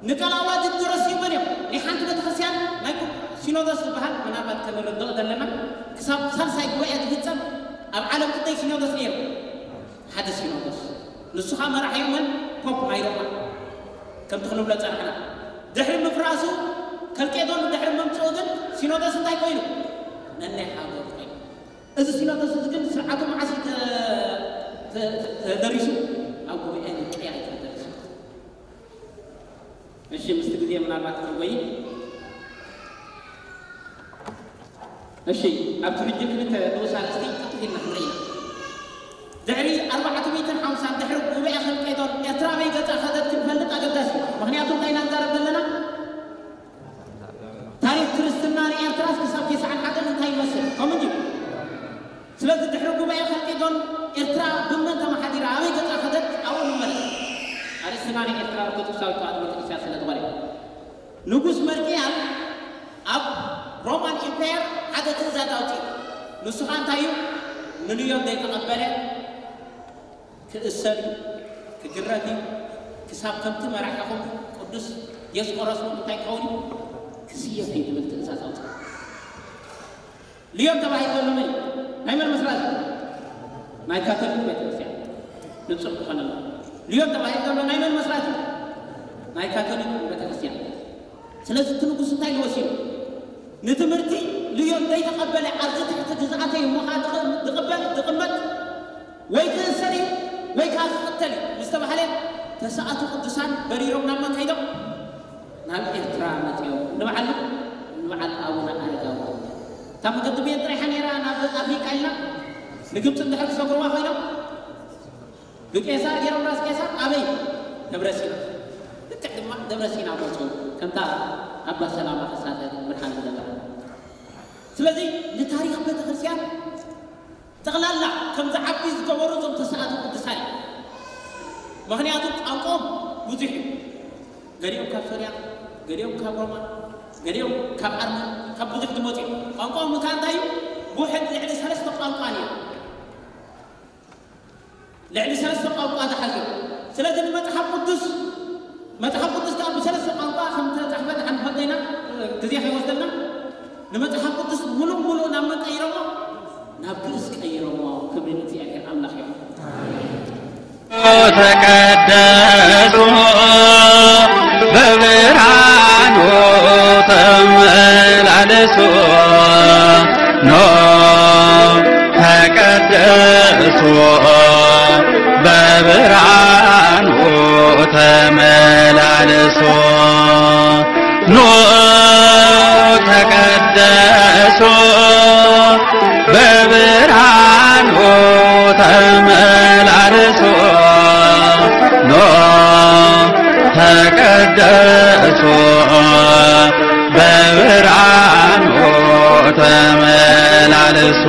ንቃል ኣዋዲ ደረስቱ መን እዮም? ናይ ሓንቲ ቤተክርስትያን ናይ ኩ-፣ ሲኖዶስ ዝበሃል ምናልባት ከነረድኦ ዘለና ክሳብ ሳልሳይ ጉባኤ ዝፍጸም ኣብ ዓለም ክንደይ ሲኖዶስ ነይሩ? ሓደ ሲኖዶስ። ንሱ ኸኣ መራሒኡ መን? ፖፕ ናይ ሮማ። ከምቲ ክንብሎ ጸናሕና። ድሕሪ ምፍራሱ፣ ከልቄዶን ድሕሪ ምምጽኡ ግን ሲኖዶስ እንታይ ኮይኑ? ነናይ ሃገሩ ኮይኑ። እዚ ሲኖዶስ እዚ ግን ስርዓቱ መዓስ እዩ ተ-፣ ተ-፣ ተ-፣ ተደሪሱ? ኣብ ጉባኤ ኒቅያ እዩ ተደሪሱ። እሺ፣ ምስቲ ግዜ ምናልባት ክንጎይ። እሺ፣ ኣብቲ ሕጂ ክልተ ንኡስ ኣርእስቲ ቅልጥፍ ኢልና ክንርኢ ኢና። ድሕሪ ኣርባዕተ ሚእትን ሓምሳን ድሕሪ ጉባኤ ከልቄዶን ኤርትራ ኣበይ ገጻ ከደት ክንፈልጥ ኣገዳሲ እዩ። ምኽንያቱ እንታይ ኢና ንዛረብ ዘለና? ታሪኽ ክርስትና ንኤርትራስ ክሳብ ተስዓን ሓደን እንታይ ይመስል? ከምኡ እንድዩ። ስለዚ ድሕሪ ጉባኤ ኸልቄዶን ኤርትራ ብመን ተመሓዲራ ኣበይ ገጻ ከደት ኣብኡ ንመለስ። ኣርእስትና ናይ ኤርትራ ኦርቶዶክሳዊት ተዋህዶ ቤተክርስትያን ስለ ዝኾነ፣ ንጉስ መርቅያን ኣብ ሮማን ኢምፓየር ሓደ ትእዛዝ ኣውፅኡ። ንሱ ኸዓ እንታይ እዩ? ንልዮን ዘይተቐበለ ክእሰር እዩ፣ ክግረፍ እዩ፣ ክሳብ ከምቲ መራሒኹም ቅዱስ ዲዮስቆሮስ እውን እንታይ ክኸውን እዩ? ክስየፍ እዩ ዝብል ትእዛዝ ኣውፅኡ። ልዮን ተባሂሉ ዘሎ መን እዩ? ናይ መን መስራቲ? ናይ ካቶሊክ ቤተክርስትያን። ንጹር ክኾነና። ልዮን ተባሂሉ ዘሎ ናይ መን መስራቲ? ናይ ካቶሊክ ቤተክርስትያን። ስለዚ እቲ ንጉስ እንታይ ኢሉ ወሲኑ? ንትምህርቲ ልዮን ዘይተቐበለ ኣብዚ ትሕቲ ግዝኣተይ እሞ ኸዓ ዝቕ-፣ ዝቕበል፣ ዝቕመጥ ወይ ክእሰር እዩ ወይ ከዓ ዝቕተል እዩ ምስ ተባህለ፣ ተስኣቱ ቅዱሳን በሪሮም ናብ መን ከይዶም? ናብ ኤርትራ መጺኦም። ንበዓል፣ ንበዓል ኣቡነ ኣረጋዊ። እታ መገዲ ብየን ጥራይ ሓኒራ ናብ ኣፍሪቃ ኢልና ንግብጺ እንድሕር ክሰግሩዋ ኮይኖም ብቄሳር ገይሮም ራስ ቄሳር ኣበይ? ደብረ ሲና። ልክዕ ድማ ደብረ ሲና መጹ። ከምታ ኣባ ሰላማ ከሳተ ብርሃን ዝነበረ። ስለዚ ንታሪኽ ቤተክርስትያን ጠቕላላ ከም ዝዓቢ ዝገበሩ እዞም ተስኣቱ ቅዱሳን እዩ። ምኽንያቱ ቋንቋኦም ብዙሕ እዩ። ገሊኦም ካብ ሶርያ፣ ገሊኦም ካብ ሮማ፣ ገሊኦም ካብ ዓርመን፣ ካብ ብዙሕ ዝመፁ እዮም። ቋንቋኦም እታ እንታይ እዩ? ውሕድ ልዕሊ ሰለስተ ቋንቋ እዩ። ልዕሊ ሰለስተ ቋንቋ ዝሓዘ እዩ። ስለዚ ንመፅሓፍ ቅዱስ፣ መፅሓፍ ቅዱስ ከዓ ብሰለስተ ቋንቋ ከም ተፃሕፈ ንሓንፈልጦ ኢና፣ ግዜ ከይወስደልና። ንመጽሓፍ ቅዱስ ሙሉእ ሙሉእ ናብ መን ቀይሮሞ? ናብ ግእዝ ቀይሮሞ። ክብሪ ንእግዚኣብሔር ኣምላኽ ይኹን። ተቀደሱ በብርሃኑ ተመላለሱ ኖ ተቀደሱ በብርሃኑ ተመላለሱ ኑ ተቀደሱ በብርሃኑ ተመላለሱ ኑ ተቀደሱ በብርሃኑ ተመላለሱ።